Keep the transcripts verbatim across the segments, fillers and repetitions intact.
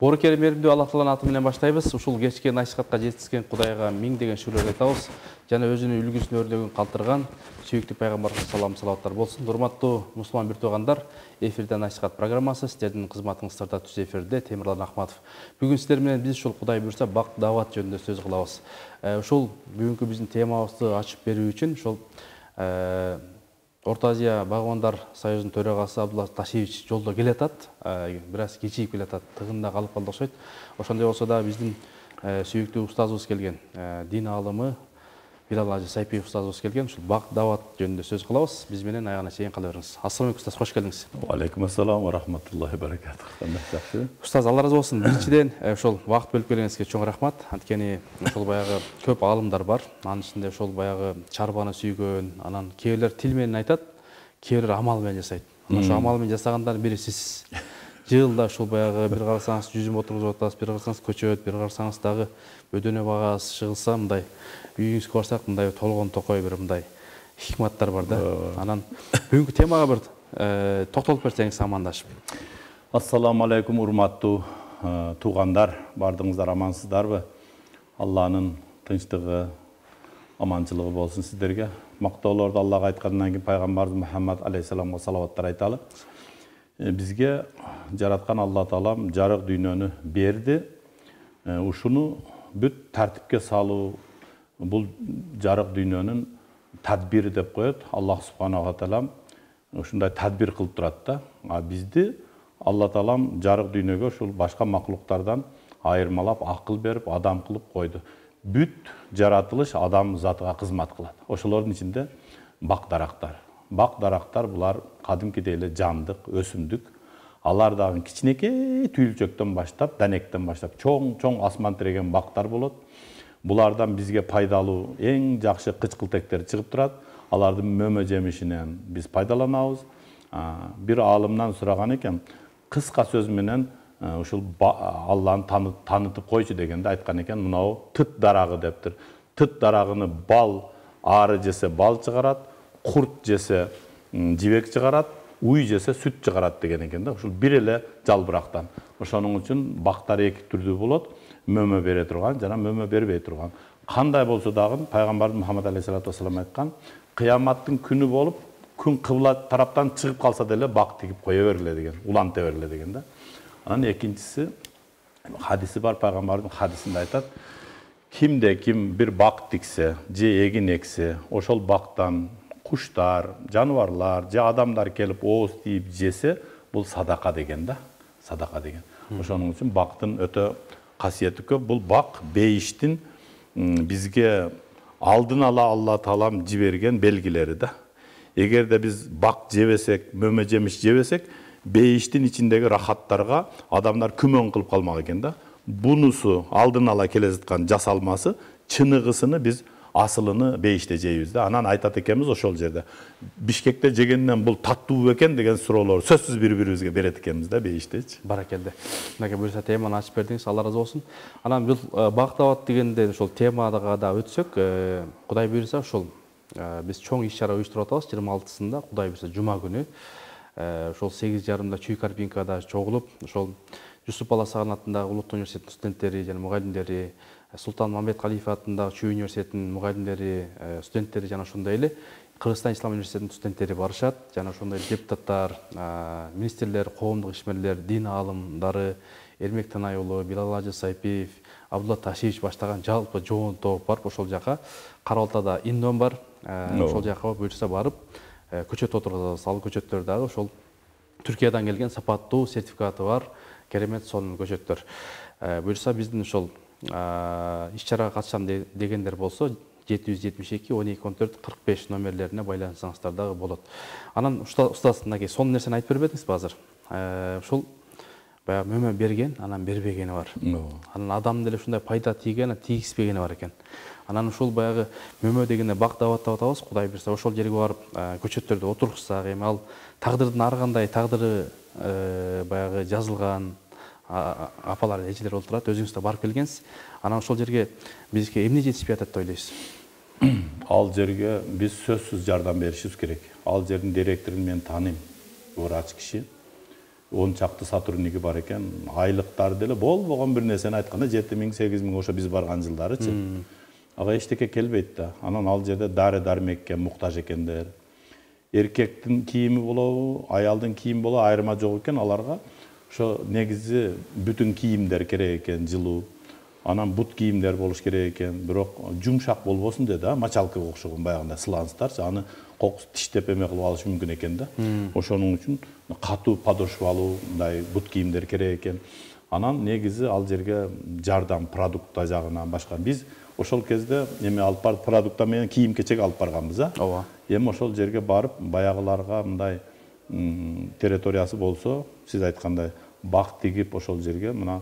Оркер меримдүү Аллах Тааланын аты менен баштайбыз. Ушул кечки насихатка жеткизген Кудайга миңдеген шүгүрлөр айтабыз. Жана өзүнүн үлгүсүн өрлөгөн калтырган сүйүктүү пайгамбарга салам салаваттар болсун. Урматтуу мусулман бир туугандар, эфирде насихат программасы сиздердин кызматыңыздарда түз эфирде Темирлан Ахматов. Бүгүн сиздер менен биз ушул Кудай буйрса бак даават жөнүндө сөз кылабыз. Ушул бүгүнкү биздин темабызды ачып берүү үчүн ушул Орто Азия Багбандар союзунун төрагасы Абдулла Ташевич жолдо келатат, бир аз кечийип келатат, тыгында калып калды окшойт. Ошондой болсо да биздин сүйүктүү устазыбыз келген, дин аалымы Билал Ажы Сайпиев устазыбыз келген, ушул бак даават жөнүндө сөз кылабыз. Биз менен аягына чейин кала бериңиз. Ассалам алейкум устаз, кош келдиңиз. Ва алейкум ассалам ва рахматуллахи ва баракатух. Кандай жакшы? Устаз, Алла ыраазы болсун. Биринчиден, ушул вакыт бөлүп келгениңизге чоң рахмат. Анткени ушул баягы көп аалымдар бар. Анын ичинде ушул баягы чарбаны сүйгөн, анан кээ бирлер тил менен айтат, кээ бирлер амал менен жасайт. Ошо амал менен жасагандардын бири сиз. Жылда ушул баягы бир карасаңыз жүзүм отургузуп атасыз, бир карасаңыз көчөт, бир карасаңыз дагы бөдөнө багасыз, чыгылса мындай үйүңүзгө барсак мындай толгон токой бир мындай хикматтар бар да. Анан бүгүнкү темага бир токтолуп берсеңиз амандашып. Ассаламу алейкум урматтуу туугандар, бардыңыздар амансыздарбы? Алланын тынчтыгы, аманчылыгы болсун сиздерге. Мактоолорду Аллага айткандан кийин пайгамбарыбыз Мухаммад алейхиссаламга салаваттар айталы. Бизге жараткан Алла Таалам жарык дүйнөнү берди. Ушуну бүт тартипке салуу бул жарык дүйнөнүн тадбири деп коет. Аллах субханаху ва таалам ушундай тадбир кылып турат да. А бизди Алла Таалам жарык дүйнөгө ушул башка макулуктардан айырмалап, акыл берип, адам кылып койду. Бүт жаратылыш адам затыга кызмат кылат. Ошолордун ичинде бак дарактар. Бак дарактар булар кадимкидей эле жандык, өсүмдүк. Алар дагы кичинекей түйүлчөктөн баштап, данектен баштап чоң-чоң асман тиреген бактар болот. Булардан бизге пайдалуу эң жакшы кычкылтектер чыгып турат. Алардын мөмө жемишинен биз пайдаланабыз. Бир аалымдан сураган экен, кыска сөз менен ушул Алланы таанытып койчу дегенде айткан экен, мынау тыт дарагы дептир. Тыт дарагыны бал ары жесе бал чыгарат, курт жесе жибек чыгарат, уй жесе сүт чыгарат деген экен да. Ушул бир эле жалбырактан. Ошонун үчүн бактар эки түрдүү болот. Мөмө бере турган жана мөмө бербей турган. Кандай болсо дагы пайгамбарыбыз Мухаммад алейхиссалату вассалам айткан, кыяматтын күнү болуп, күн кыбла тараптан чыгып калса деле бак тигип кое бергиле деген, уланта бергиле деген да. Анан экинчиси хадиси бар, пайгамбардын хадисинде айтат, кимде ким бир бак тиксе, же эгин эксе, ошол бактан куштар, жаныбарлар, же адамдар келип ооз тийип жесе, бул садака деген да, садака деген. Ошонун үчүн бактын өтө касиети көп. Бул бак бейиштин бизге алдын ала Алла Таалам жиберген белгилери да. Эгерде биз бак жебесек, мөмө жемиш жебесек, бейиштин ичиндеги рахаттарга адамдар күмөн кылып калмак экен да. Бунусу алдын ала келе жаткан жасалмасы, чыныгысыны биз асылыны бейиште жейбиз да. Анан айтат экенбиз ошол жерде. Бишкекте жегенден бул таттуу экен деген суроолор сөзсүз бири-бирибизге берет экенбиз да бейиштечи. Баракелде. Мынакей буюрса теманы ачып бердиңиз, Алла ыраазы болсун. Анан бул бак даават дегенде ошол темага да өтсөк, Кудай буюрса ошол биз чоң иш-чара уюштуруп атабыз. жыйырма алтысында Кудай буюрса жума күнү ошол сегиз жарымда Чүй Карпинкада чогулуп, ошол Жусуп Баласаган атындагы Улуттук университеттин студенттери жана мугалимдери, Султан Мамбет Калифа атындагы Чүй университетинин мугалимдери, студенттери жана ошондой эле Кыргызстан Ислам университетинин студенттери барышат. Жана ошондой депутаттар, министрлер, коомдук ишмерлер, дин аалымдары, Эрмек Танай уулу, Билал Ажы Сайпиев, Абдулла Ташевич баштаган жалпы жоон топ барып ошол жака, Кара Балтада Индон бар, ошол жака буюрса барып көчөт отургузабыз. Ал көчөттөр дагы ошол Түркиядан келген сапаттуу сертификаты бар керемет сонун көчөттөр. Буюрса биздин ошол иш-чарага катышам дегендер болсо жети жүз жетимиш эки он эки он төрт кырк беш номерлерине байлансаңыздар дагы болот. Анан устаз, мынакей сонун нерсени айтып бербедиңизби азыр? Ушул баягы мөмө берген, анан бербегени бар. Анан адам деле ушундай пайда тийген, тийгизбегени бар экен. Анан ушул баягы мөмө дегенде бак даават деп атабыз. Кудай буюрса ошол жерге барып көчөттөрдү отургузсак, эми ал тагдырдын ар кандай тагдыры баягы жазылган апалар, эжелер болуп турат. Өзүңүз да барып келгенсиз. Анан ошол жерге бизге эмне жетишпей атат деп ойлойсуз? Ал жерге биз сөзсүз жардам беришибиз керек. Ал жердин директорун мен тааныйм. Врач киши. он чакты сотрудниги бар экен. Айлыктары деле болбогон бир нерсени айтканда жети миң сегиз миң ошо биз барган жылдарычы. Ага эчтеке келбейт да. Анан ал жерде дары дармекке муктаж экендер. Эркектин кийими болобу, аялдын кийими болобу айырма жок экен аларга. Ошо негизи бүтүн кийимдер керек экен, жылуу. Анан бут кийимдер болуш керек экен. Бирок жумшак болбосун деди, а мочалкага окшогон баягындай сланцтарчы. Аны кокус тиштеп эме кылып алыш мүмкүн экен да. Ошонун үчүн катуу подошвалуу мындай бут кийимдер керек экен. Анан негизи ал жерге жардам продукта жагынан башка биз ошол кезде эме алып барып продукта менен кийим кечек алып барганбыз, а. Ооба. Эми ошол жерге барып баягыларга мындай территориясы болсо, сиз айткандай бак тигип ошол жерге мына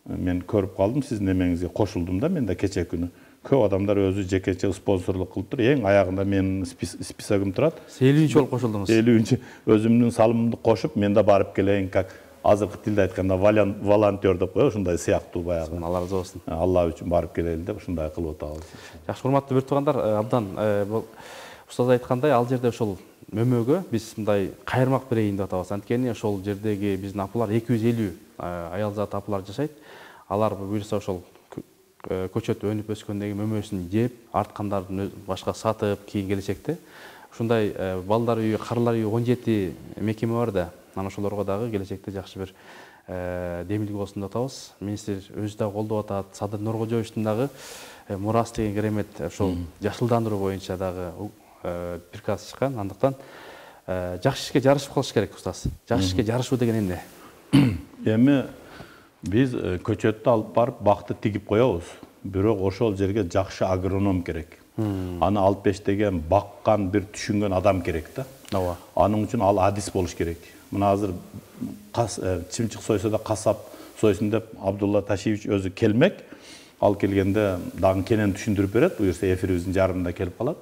мен көрүп калдым, сиздин эмеңизге кошулдум да мен да кече күнү. Көп адамдар өзү жекече спонсорлук кылып тур. Эң аягында менин списогум турат. элүүнчү болуп кошулдуңуз. элүүнчү өзүмдүн салымымды кошуп, мен да барып келейин, как азыркы тилде айтканда волонтер деп коебуз, ушундай сыяктуу баягы. Алла разы болсун. Алла үчүн барып келели деп ушундай кылып атабыз. Жакшы, урматтуу бир туугандар, абдан бул устаз айткандай, ал жерде ошол мөмөгө биз мындай кайырмак берейин деп атабыз. Анткени ошол жердеги биздин апалар эки жүз элүү аял зат апалар жашайт. Алар буюрса ошол көчөт өнүп өскөндөгү мөмөсүн жеп, арткандарын башка сатып, кийин келечекте ушундай балдар үйү, карылар үйү он жети мекеме бар да. Анан ошолорго дагы келечекте жакшы бир демилге болсун деп атабыз. Министр өзү да колдоп атат. Садыр Нуркожоевичтин дагы мурас деген керемет ошол жашылдандыруу боюнча дагы приказ чыккан. Андыктан жакшы ишке жарышып калыш керек, устаз. Жакшы ишке жарышуу деген эмне? Эми биз көчөттү алып барып бакты тигип коебуз. Бирок ошол жерге жакшы агроном керек. Аны алып бештеген, баккан, бир түшүнгөн адам керек да. Ооба. Анын үчүн ал адис болуш керек. Мына азыр чымчык сойсо да касап сойсун деп Абдулла Ташиевич өзү келмек. Ал келгенде дагы кенен түшүндүрүп берет. Буюрса эфирибиздин жарымында келип калат.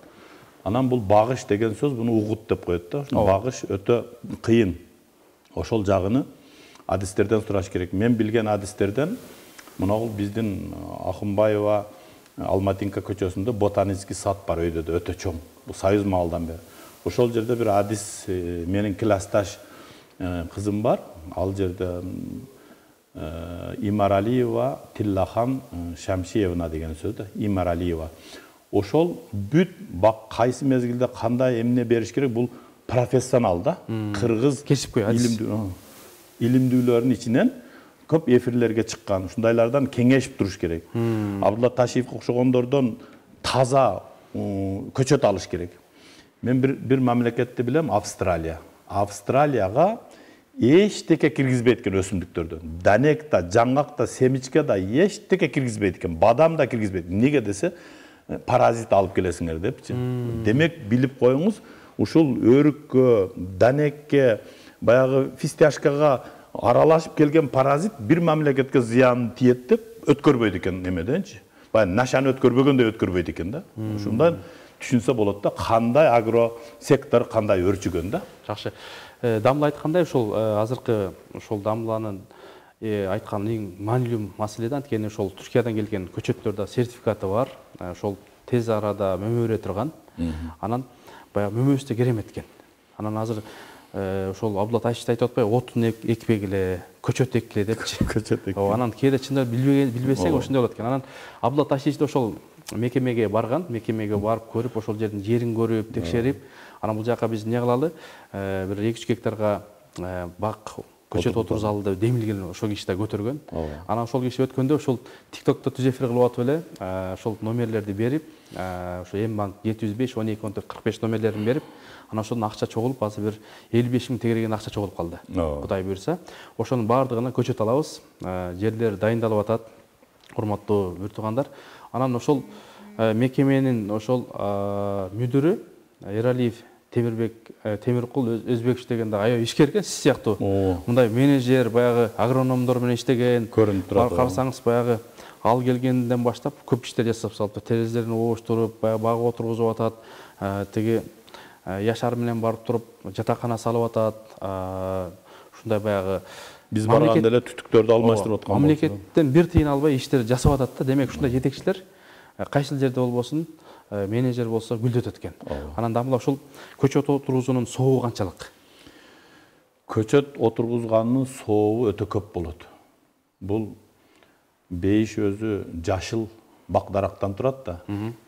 Анан бул багыш деген сөз буну угут деп коет да. Багыш өтө кыйын. Ошол жагыны адистерден сураш керек. Мен билген адистерден мына биздин Акынбаева Алматинка көчөсүндө ботанический сад бар, өйдө да өтө чоң. Бул союз маалдан бери. Ошол жерде бир адис менин классташ кызым бар. Ал жерде Имаралиева Тиллахан Шамшиевна деген сөз да. Имаралиева. Ошол бүт бак кайсы мезгилде кандай эмне бериш керек, бул профессионал да. Кыргыз кесипкөй адис. Илимдүүлөрдүн ичинен көп эфирлерге чыккан. Ушундайлардан кеңешип туруш керек. Абдулла Ташиевге окшогондордон таза көчөт алыш керек. Мен бир бир мамлекетти билем, Австралия. Австралияга эчтеке киргизбейт экен өсүмдүктөрдөн. Данек да, жаңгак да, семичке да эчтеке киргизбейт экен. Бадам да киргизбейт. Неге десе, паразит алып келесиңер депчи. Демек билип коюңуз, ушул өрүккө, данекке, баягы фисташкага аралашып келген паразит бир мамлекетке зыян тиет деп өткөрбөйт экен эмеденчи. Баягы нашаны өткөрбөгөндөй өткөрбөйт экен да. Ушундан түшүнсө болот да, кандай агро сектор кандай өрчүгөн да. Жакшы. Дамла айткандай, ошол азыркы ошол Дамланын айткан эң маанилүү маселе да, анткени ошол Түркиядан келген көчөттөрдө сертификаты бар. Ошол тез арада мөмөрө турган. Анан баягы мөмөсү да керемет экен. Анан азыр ошол Абдулла Ташиевич айтып атпайбы, отун экпегиле, көчөт эккиле депчи. Көчөт эккиле. Ооба, анан кээде чындап билбесең ошондой болот экен. Анан Абдулла Ташиевич да ошол мекемеге барган, мекемеге барып көрүп, ошол жердин жерин көрүп, текшерип, анан бул жака биз эмне кылалы? Бир эки жүз гектарга бак көчөт отургузалы деп демилген ошол киши да көтөргөн. Анан ошол киши өткөндө ошол тиктокто түз эфир кылып атып эле, ошол номерлерди берип, ошо М-банк жети жүз беш он эки он төрт кырк беш номерлерин берип, анан ошондон акча чогулуп, азыр бир элүү беш миң тегереген акча чогулуп калды. Кудай буйрса, ошонун баардыгына көчөт алабыз. Жерлер дайындалып атат. Урматтуу бир туугандар. Анан ошол мекеменин ошол мүдүрү Эралиев Темирбек Темиркул Өзбекович деген да аябай ишкер экен, сиз сыяктуу. Мындай менеджер, баягы агрономдор менен иштеген. Көрүнүп турат. Карасаңыз, баягы ал келгенден баштап көп иштер жасап салып, терезелерин обуштуруп, баягы багып отургузуп атат. Тиги Яшар менен барып туруп, жатакана салып атат. Ушундай баягы биз барганда эле түтүктөрдү алмаштырып аткан. Мамлекеттен бир тыйын албай иштер жасап атат да. Демек ушундай жетекчилер кайсыл жерде болбосун, менеджер болсо гүлдөтөт экен. Анан Дамла ошол көчөт отургузуунун соогу канчалык? көчөт отургузганын сообу өтө көп болот. Бул бейиш өзү жашыл бак дарактан турат да.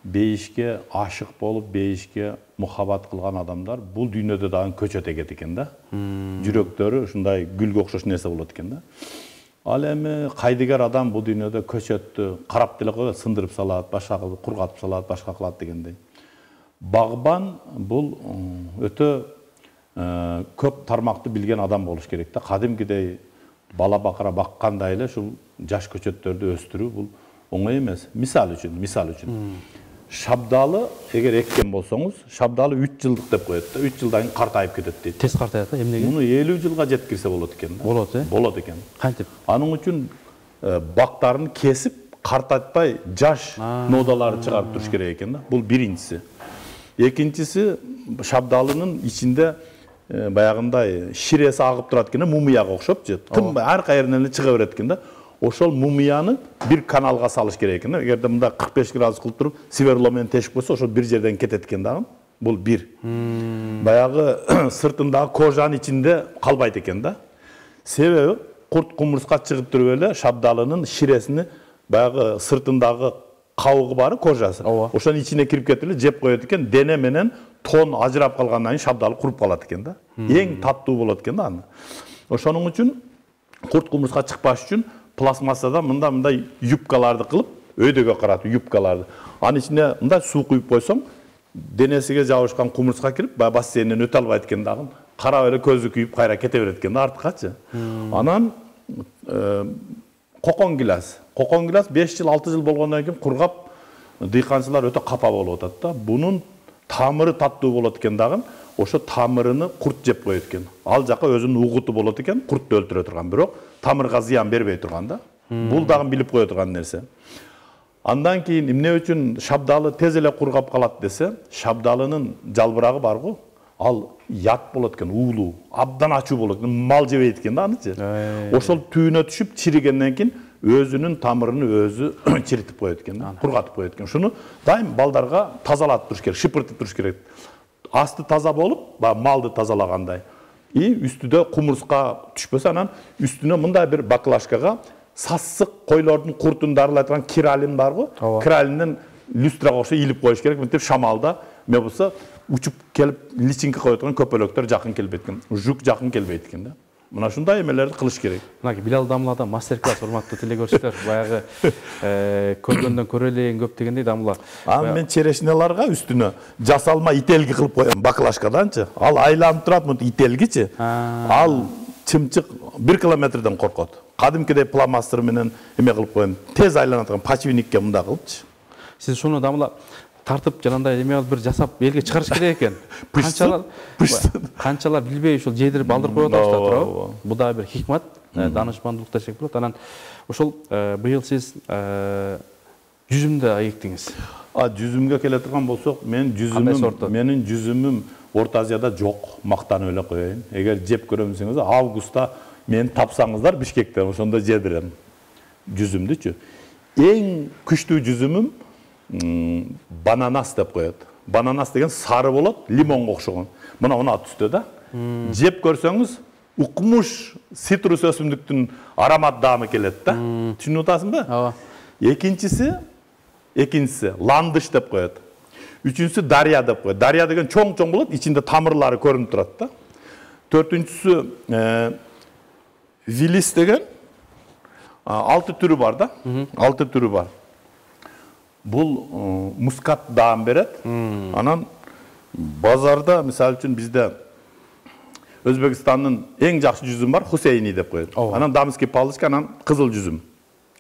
Бейишке ашык болуп, бейишке мухаббат кылган адамдар бул дүйнөдө дагы көчөт эгет экен да. Жүрөктөрү ушундай гүлгө окшош нерсе болот экен да. Ал эми кайдыгер адам бул дүйнөдө көчөттү карап деле коет, сындырып салат, башка кылып кургатып салат, башка кылат дегендей. Багбан бул өтө көп тармакты билген адам болуш керек да. Кадимкидей бала бакыра баккандай эле ушул жаш көчөттөрдү өстүрүү бул оңой эмес. Мисал үчүн, мисал үчүн. Шабдалы эгер эккен болсоңуз, шабдалы үч жылдык деп коет да. үч жылдан кийин картайып кетет дейт. Тез картаят да, эмнеге? Муну элүү жылга жеткирсе болот экен да. Болот, э? Болот экен. Кантип? Анын үчүн бактарын кесип, картайтпай жаш нодаларды чыгарып туруш керек экен да. Бул биринчиси. Экинчиси, шабдалынын ичинде баягындай ширеси агып турат экен, мумияга окшопчу. Тым ар кайеринен эле чыга берет экен да. Ошол мумияны бир каналга салыш керек экен. Эгерде мында кырк беш градус кылып туруп, сверло менен тешип койсо, ошол бир жерден кетет экен дагы. Бул бир. Баягы сыртындагы кожанын ичинде калбайт экен да. Себеби курт кумурска чыгып туруп эле шабдалынын ширесини баягы сыртындагы кабыгы бары, кожасы. Ошонун ичине кирип кетип эле жеп коет экен. Дене менен тон ажырап калгандан кийин шабдалы куруп калат экен да. Эң таттуу болот экен да аны. Ошонун үчүн курт кумурска чыкпаш үчүн пластмассадан мында мындай юбкаларды кылып, өйдөгө каратып юбкаларды. Анын ичине мындай суу куюп койсоң, денесиге жабышкан кумурска кирип, бассейнден өтө албайт экен дагы. Карап эле көзү күйүп кайра кете берет экен да артыкачы. Анан кокон гилас. Кокон гилас беш жыл, алты жыл болгондон кийин кургап, дыйканчылар өтө капа болуп атат да. Бунун тамыры таттуу болот экен дагы. Ошо тамырыны курт жеп коет экен. Ал жака өзүнүн угуту болот экен, куртту өлтүрө турган, бирок тамырга зыян бербей турган да. Бул дагы билип кое турган нерсе. Андан кийин эмне үчүн шабдалы тез эле кургап калат десе, шабдалынын жалбырагы барго, ал ят болот экен, уулуу, абдан ачуу болот экен, мал жебейт экен да анычы. Ошол түйүнө түшүп чиригенден кийин өзүнүн тамырын өзү чиритип коет экен да, кургатып коет экен. Шуну дайым балдарга тазалатып туруш керек, шыпыртып туруш керек. Асты таза болуп, малды тазалагандай. И үстүдө кумурска түшпөсө, анан үстүнө мындай бир баклажкага сассык койлордун куртун дарылай турган киралин барго, киралинден люстрага окшой илип коюш керек. Мынтип шамалда эмне болсо учуп келип личинке кое турган көпөлөктөр жакын келбейт экен. Жук жакын келбейт экен да. Мына ушундай эмелерди кылыш керек. Мына Билал Дамладан мастер-класс, урматтуу телекөрүүчүлөр, баягы көргөндөн көрөлең көп дегендей Дамла. Аны мен черешнеларга үстүнө жасалма ителги кылып коем, баклажкаданчы. Ал айланып турат, мынтип ителгичи. Ал чымчык бир километрден коркот. Кадимкидей пластмастер менен эме кылып коем, тез айлана турган почвенникке мында кылыпчы. Сиз шуну Дамла тартып жанагындай эме алып бир жасап элге чыгарыш керек экен. Канчалар канчалар билбей ушул жедирип алдырып коюп атат туурабы? Бул да бир хикмат, данышмандуулук десек болот. Анан ошол быйыл сиз жүзүмдү эктиңиз. А жүзүмгө келе турган болсок, мен жүзүмүм, менин жүзүмүм Орто Азияда жок, мактанып эле коеюн. Эгер жеп көрөм десеңиз, августта мени тапсаңыздар Бишкектен, ошондо жедирем жүзүмдүчү. Эң күчтүү жүзүмүм бананас деп коет. Бананас деген сары болот, лимонго окшогон. Мына мына түстө да. Жеп көрсөңүз, укмуш цитрус өсүмдүктүн аромат даамы келет да. Түшүнүп атасыңбы? Ооба. Экинчиси, экинчиси ландыш деп коет. Үчүнчүсү дарья деп коет. Дарья деген чоң-чоң болот, ичинде тамырлары көрүнүп турат да. Төртүнчүсү вилис деген алты түрү бар да. Алты түрү бар. Бул мускат даам берет. Анан базарда, мисалы үчүн бизде Өзбекстандын эң жакшы жүзүм бар, Хусейни деп коет. Анан дамский палычка, анан кызыл жүзүм.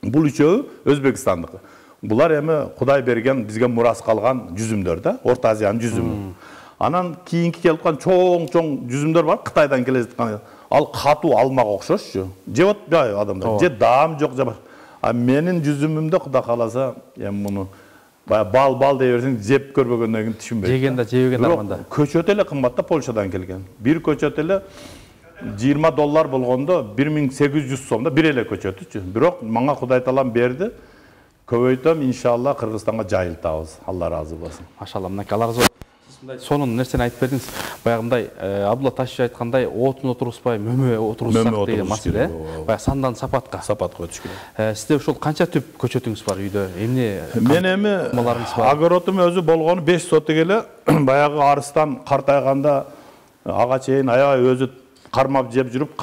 Бул үчөө Өзбекстандыкы. Булар эми Кудай берген, бизге мурас калган жүзүмдөр да, Орто Азиянын жүзүмү. Анан кийинки келип аткан чоң-чоң жүзүмдөр бар, Кытайдан келе жаткан. Ал катуу алмага окшошчу. Жеп атпайбы адамдар? Же даам жок, же бар. А менин жүзүмүмдө Кудай кааласа, эми муну бал-бал дей берсең, жеп көрбөгөндөн кийин түшүнбөйт. Жегенде, жебеген арманда. Көчөт эле кымбат да, Польшадан келген. Бир көчөт эле жыйырма доллар болгондо бир миң сегиз жүз сомдо бир эле көчөтүчү. Бирок мага Кудай таалам берди. Көбөйтөм, иншалла Кыргызстанга жайылтабыз. Алла ыраазы болсун. Машалла, мынакей Алла ыраазы болсун. сонун нерсени айтып бердиңиз. Баягындай Абдулла Ташевич айткандай, отун отургузбай мөмө отургузсак деген маселе. Баягы сандан сапатка. Сапатка өтүш керек. Сизде ошол канча түп көчөтүңүз бар үйдө? Эмне? Мен эми огородум өзү болгону беш соток эле. Баягы арыстан картайганда ага чейин аябай өзү кармап жеп жүрүп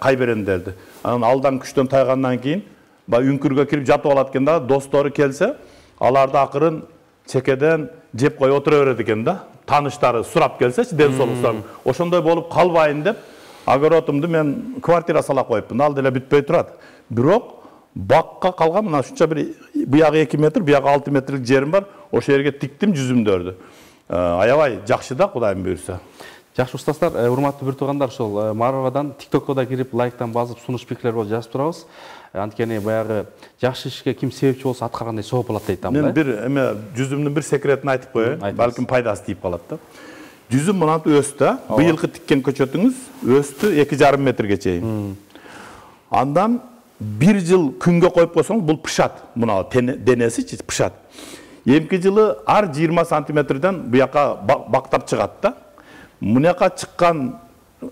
кай берем дерди. Анан алдан күчтөн тайгандан кийин баягы үңкүргө кирип жатып алат экен да, достору келсе, аларды акырын чекеден жеп кой отура берет экен да. Таныштары сурап келсечи, ден соолук сурап. Ошондой болуп калбайын деп, огородумду мен квартира сала коюпмун. Ал деле бүтпөй турат. Бирок бакка калган мына ушунча бир буягы эки метр, буягы алты метрлик жерим бар. Ошол жерге тиктим жүзүмдөрдү. Аябай жакшы да, Кудайым буйрса. Жакшы устаздар, урматтуу бир туугандар, ошол Марвадан тиктокко да кирип, лайктан басып, сунуш пикирлер болуп жазып турабыз. Анткени баягы жакшы ишке ким себепчи болсо аткаргандай сооп болот дейт амда. Мен бир эме жүзүмдүн бир секретин айтып коеюн, балким пайдасы тиип калат да. Жүзүм мынантип өстү, быйылкы тиккен көчөтүңүз өстү эки жарым метрге чейин. Андан бир жыл күнгө коюп койсоң, бул пышат. Мына денесичи пышат. Эмки жылы ар жыйырма сантиметрден буяка бактап чыгат да. Мунуяка чыккан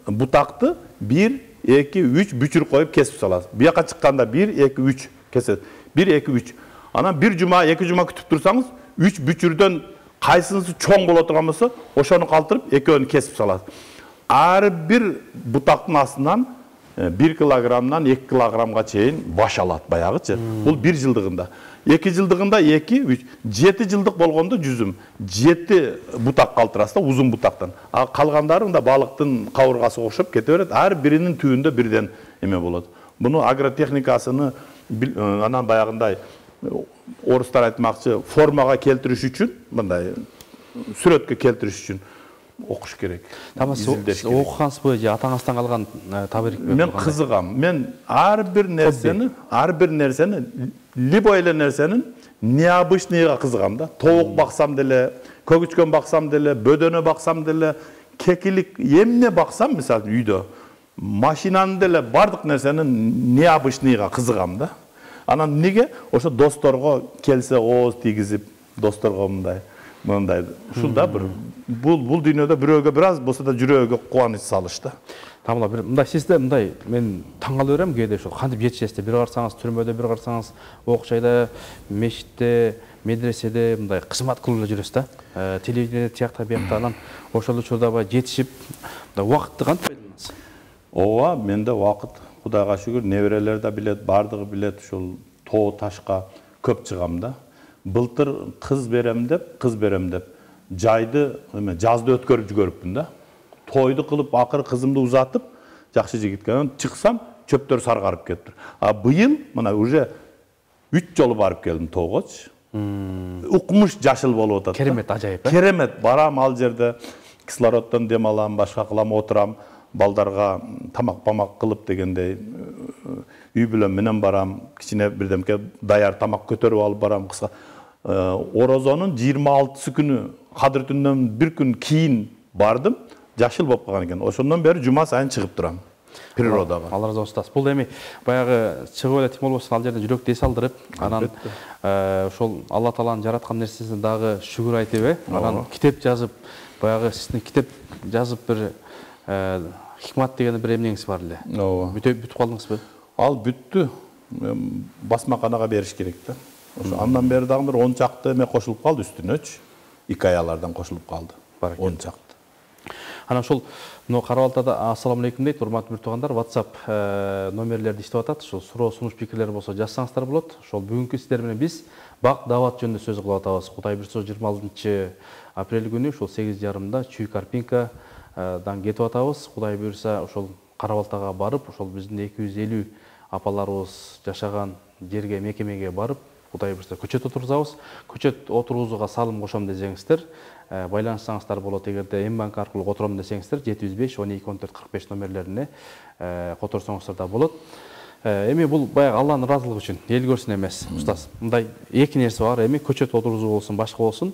бутакты бир эки үч бүчүр коюп кесип саласыз. Буяка чыкканда бир эки үч кесет. бир эки үч. Анан бир жума, эки жума күтүп турсаңыз, үч бүчүрдөн кайсынысы чоң боло турган болсо, ошону калтырып экөөнү кесип саласыз. Ар бир бутактын астынан бир килограммдан эки килограммга чейин баш алат баягычы. Бул бир жылдыгында. эки жылдыгында эки, үч, жети жылдык болгондо жүзүм. жети бутак калтырасыз да, узун бутактан. А калгандары мында балыктын кабыргасы окшоп кете берет. Ар биринин түбүндө бирден эме болот. Буну агротехникасыны анан баягындай орустар айтмакчы, формага келтириш үчүн, мындай сүрөткө келтириш үчүн окуш керек. Тамасы окугансызбы же атаңыздан калган табирикпи? Мен кызыгам. Мен ар бир нерсени, ар бир нерсени, любой эле нерсенин необычныйга кызыгам да. Тоок баксам деле, көгүчкөн баксам деле, бөдөнө баксам деле, кекилик эмне баксам, мисалы үйдө, машинаны деле бардык нерсенин необычныйга кызыгам да. Анан неге? Ошо досторго келсе ооз тийгизип, досторго мындай мындай ушул да бир бул бул дүйнөдө бирөөгө бир аз болсо да жүрөгүгө кубаныч салыш да. Тамла бир мындай сизде мындай мен таң кала берем кээде ошо кантип жетишесиз. Бир карасаңыз түрмөдө, бир карасаңыз окчайда, мечитте, медреседе мындай кызмат кылып эле жүрөсүз да. Телевидение тиякта биякта анан ошол учурда баягы жетишип, мындай убакытты кантип пайдаланасыз? Ооба, менде убакыт Кудайга шүгүр, неберелер да билет, бардыгы билет, ушул тоо ташка көп чыгам да. Былтыр кыз берем деп, кыз берем деп жайды, эме жазды өткөрүп жүгөрүпмүн да. Тойду кылып, акыры кызымды узатып, жакшы жигитке чыксам, чөптөр саргарып кетти. А быйыл мына уже үч жолу барып келдим тоогочу. Укмуш жашыл болуп атат. Керемет, ажайып. Керемет, барам ал жерде кислороддон дем алам, башка кылам, отурам, балдарга тамак-памак кылып дегендей үй бүлөм менен барам, кичине бирдемке даяр тамак көтөрүп алып барам. Кыска Орозонун жыйырма алтысы күнү Кадыр түнүнөн бир күн кийин бардым. Жашыл болуп калган экен. Ошондон бери жума сайын чыгып турам природага. Алла разы болсун. Бул эми баягы чыгып эле тим болбосун ал жерде жүрөк дес алдырып, анан ошол Алла Тааланын жараткан нерсесине дагы шүгүр айтып, анан китеп жазып, баягы сиздин китеп жазып бир хикмат деген бир эмнеңиз бар эле. Ооба. Бүтүп бүтүп калдыңызбы? Ал бүттү. Басмаканага бериш керек да. Ошо андан бери дагы бир он чакты эме кошулуп калды үстүнөчү. Икаялардан кошулуп калды. он чакты. Анан ошол мына Кара-Балтада ассаламу алейкум дейт, урматтуу бир туугандар, WhatsApp номерлерди иштеп атат. Ошол суроо, сунуш пикирлер болсо жазсаңыздар болот. Ошол бүгүнкү сиздер менен биз бак даават жөнүндө сөз кылып атабыз. Кудай буйрса жыйырма алтынчы апрель күнү ошол сегиз жарымда Чүй Карпинкадан кетип атабыз. Кудай буйрса ошол Кара-Балтага барып, ошол биздин эки жүз элүү апаларыбыз жашаган жерге, мекемеге барып, Кудай буйрса көчөт отургузабыз. Көчөт отургузууга салым кошом десеңиздер, байланышсаңыздар болот. Эгерде М-банк аркылуу котором десеңиздер, жети жүз беш он эки он төрт кырк беш номерлерине которсоңуздар да болот. Эми бул баягы Алланын ыраазылыгы үчүн, эл көрсүн эмес, устаз. Мындай эки нерсе бар, эми көчөт отургузуу болсун, башка болсун.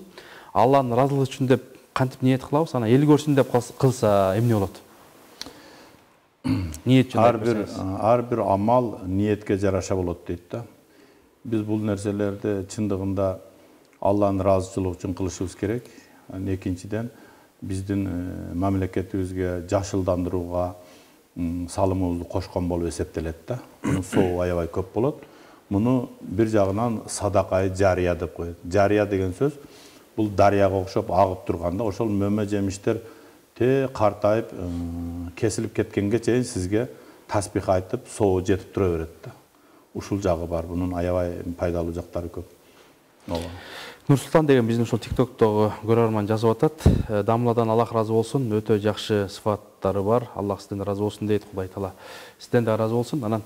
Алланын ыраазылыгы үчүн деп кантип ниет кылабыз, анан эл көрсүн деп кылса эмне болот? Ниет жөнүндө ар бир ар бир амал ниетке жараша болот дейт да. Биз бул нерселерди чындыгында Алланын ыраазычылыгы үчүн кылышыбыз керек. Экинчиден биздин мамлекетибизге жашылдандырууга салымыбызды кошкон болуп эсептелет да. Мунун соогу аябай көп болот. Муну бир жагынан садакай жария деп коет. Жария деген сөз бул дарыяга окшоп агып турганда ошол мөмө жемиштер те картайып кесилип кеткенге чейин сизге таспих айтып соогу жетип тура берет да. Ушул жагы бар. Бунун аябай пайдалуу жактары көп. Нурсултан деген биздин ушул тиктоктогу көрөрман жазып атат. Дамладан Аллах разы болсун. Өтө жакшы сыфаттары бар. Аллах сизден разы болсун дейт. Кудай таала сизден да разы болсун. Анан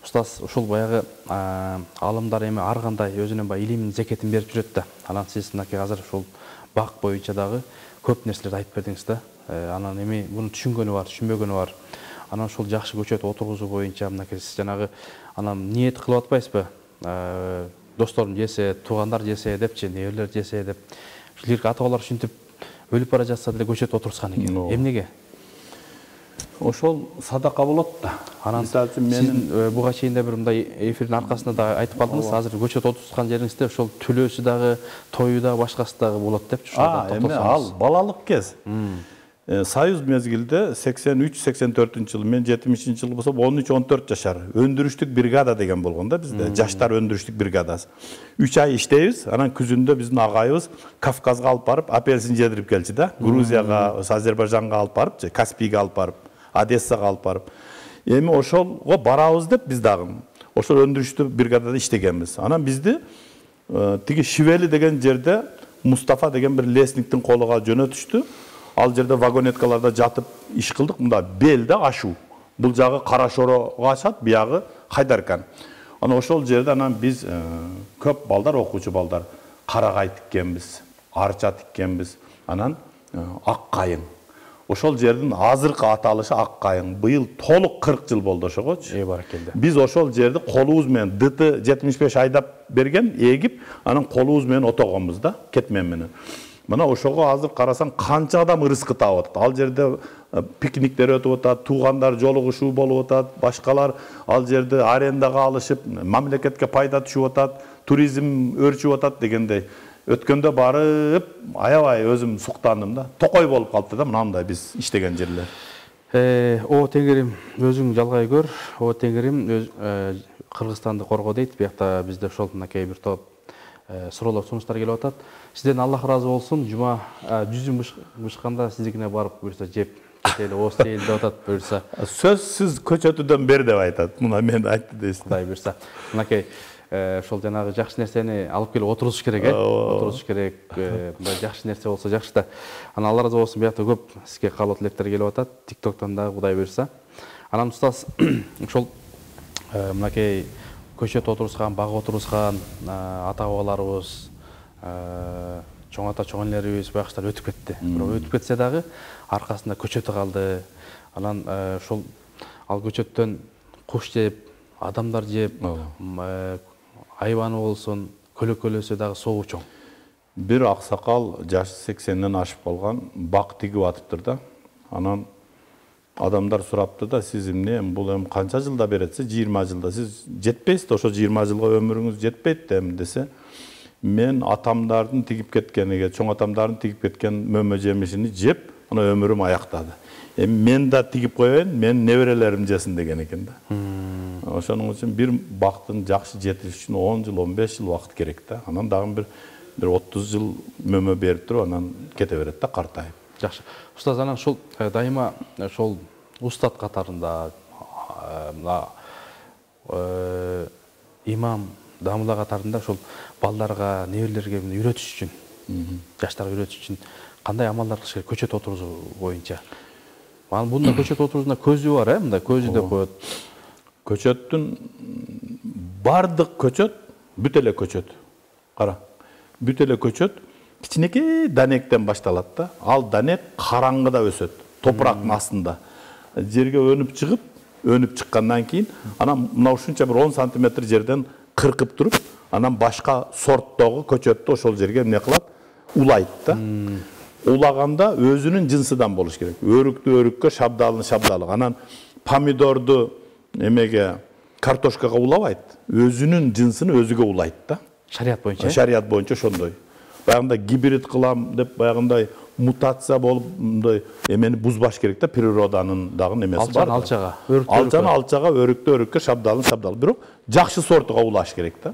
устаз ушул баягы алымдар эми ар кандай өзүнүн баягы илимин зекетин берип жүрөт да. Анан сиз мынакей азыр ушул бак боюнча дагы көп нерселерди айтып бердиңиз да. Анан эми муну түшүнгөнү бар, түшүнбөгөнү бар. Анан ушул жакшы көчөт отургузуу боюнча мынакей сиз жанагы анан ниет кылып атпайсызбы? Досторум жесе, туугандар жесе депчи, неберелер жесе деп. Ушул ата-бабалар ушинтип өлүп бара жатса деле көчөт отурушкан экен. Эмнеге? Ошол садака болот да. Анан сиз буга чейин да бир мындай эфирдин аркасында да айтып калдыңыз. Азыр көчөт отурушкан жериңизде ошол төлөөсү дагы, тою да, башкасы дагы болот депчи. А, эми ал балалык кез. Союз мезгилде сексен үч сексен төртүнчү жылы, мен жетимишинчи жылы болсо он үч он төрт жашар өндүрүштүк бригада деген болгон да бизде. Жаштар өндүрүштүк бригадасы. үч ай иштейбиз, анан күзүндө биздин агайыбыз Кавказга алып барып апельсин жедирип келчи да. Грузияга, Азербайжанга алып барып, Каспийге алып барып, Одессага алып барып. Эми ошолго барабыз деп биз дагы ошол өндүрүштүк бригадада иштегенбиз. Анан бизди тиги Шивели деген жерде Мустафа деген бир лесниктин колуга жөнөтүштү. Ал жерде вагонеткаларда жатып иш кылдык. Мында белде ашуу. Бул жагы Карашорого ачат, биягы Хайдаркан. Анан ошол жерде анан биз көп балдар, окуучу балдар карагай тиккенбиз, арча тиккенбиз. Анан ак кайың. Ошол жердин азыркы аталышы ак кайың. Быйыл толук кырк жыл болду ошогочу. Эй баракелде. Биз ошол жерди колубуз менен ды ты жетимиш беш айдап берген, эгип, анан колубуз менен отогонбуз да, кетмен менен. Мына ошого азыр карасаң канча адам ырыскы таап атат. Ал жерде пикниктер өтүп атат, туугандар жолугушуу болуп атат, башкалар ал жерде арендага алышып, мамлекетке пайда түшүп атат, туризм өрчүп атат дегендей. Өткөндө барып, аябай өзүм суктандым да. Токой болуп калды да мындай биз иштеген жерлер. Э, о теңирим өзүң жалгай көр. О теңирим Кыргызстанды корго дейт. Биякта бизде ошол мынакей бир топ суроолор, сунуштар келип атат. Сизден Аллах разы болсун. Жума жүзүм бышканда сиздикине барып буюрса жеп кетели, ос дейли деп атат буюрса. Сөзсүз көчөтүдөн бер деп айтат. Мына мен айтты дейсиз. Кудай буюрса. Мынакей ошол жанагы жакшы нерсени алып келип отурушуш керек, э? Отурушуш керек. Мындай жакшы нерсе болсо жакшы да. Анан Алла разы болсун, биякта көп сизге каалоо тилектер келип атат. Тиктоктон дагы Кудай буюрса. Анан устаз ошол мынакей көчөт отурушкан, баг отурушкан ата-бабаларыбыз, чоң ата, чоң энелерибиз баягыштар өтүп кетти. Бирок өтүп кетсе дагы аркасында көчөтү калды. Анан ошол ал көчөттөн куш жеп, адамдар жеп, айбаны болсун, көлөкөлөсү дагы соогу чоң. Бир аксакал жашы сексенден ашып калган, бак тигип атыптыр да. Анан адамдар сурапты да, сиз эмне, бул эми канча жылда беретсиз? жыйырма жылда. Сиз жетпейсиз да, ошо жыйырма жылга өмүрүңүз жетпейт да эми десе. Мен атамдардын тигип кеткениге, чоң атамдардын тигип кеткен мөмө жемишини жеп, ана өмүрүм аяктады. Эми мен да тигип коеюн, мен неберелерим жесин деген экен да. Ошонун үчүн бир бактын жакшы жетиш үчүн он жыл, он беш жыл убакыт керек да. Анан дагы бир бир отуз жыл мөмө берип туруп, анан кете берет да, картайып. Жакшы. Устаз, анан ушул дайыма ошол устат катарында имам, дамыла катарында ошол балдарга, неберелерге үйрөтүш үчүн, жаштарга үйрөтүш үчүн кандай амалдар кылыш керек көчөт отургузуу боюнча? Анан бунда көчөт отургузуунда көзү бар, э, мындай көзү деп коет. Көчөттүн бардык көчөт бүт эле көчөт. Кара. Бүт эле көчөт кичинекей данектен башталат да. Ал данек караңгыда өсөт, топурактын астында. Жерге өнүп чыгып, өнүп чыккандан кийин, анан мына ушунча бир он сантиметр жерден кыркып туруп, анан башка сорттогу көчөттү ошол жерге эмне кылат? Улайт да. Улаганда өзүнүн жынсыдан болуш керек. Өрүктү өрүккө, шабдалын шабдалык. Анан помидорду эмеге, картошкага улабайт. Өзүнүн жынсын өзүгө улайт да. Шарият боюнча. Шарият боюнча ошондой. баягындай гибрид кылам деп баягындай мутация болуп мындай эмени бузбаш керек да, природанын дагы немеси бар. Алчага, алчаны алчага, өрүктө өрүккө, шабдалын шабдал. Бирок жакшы сортуга улаш керек да.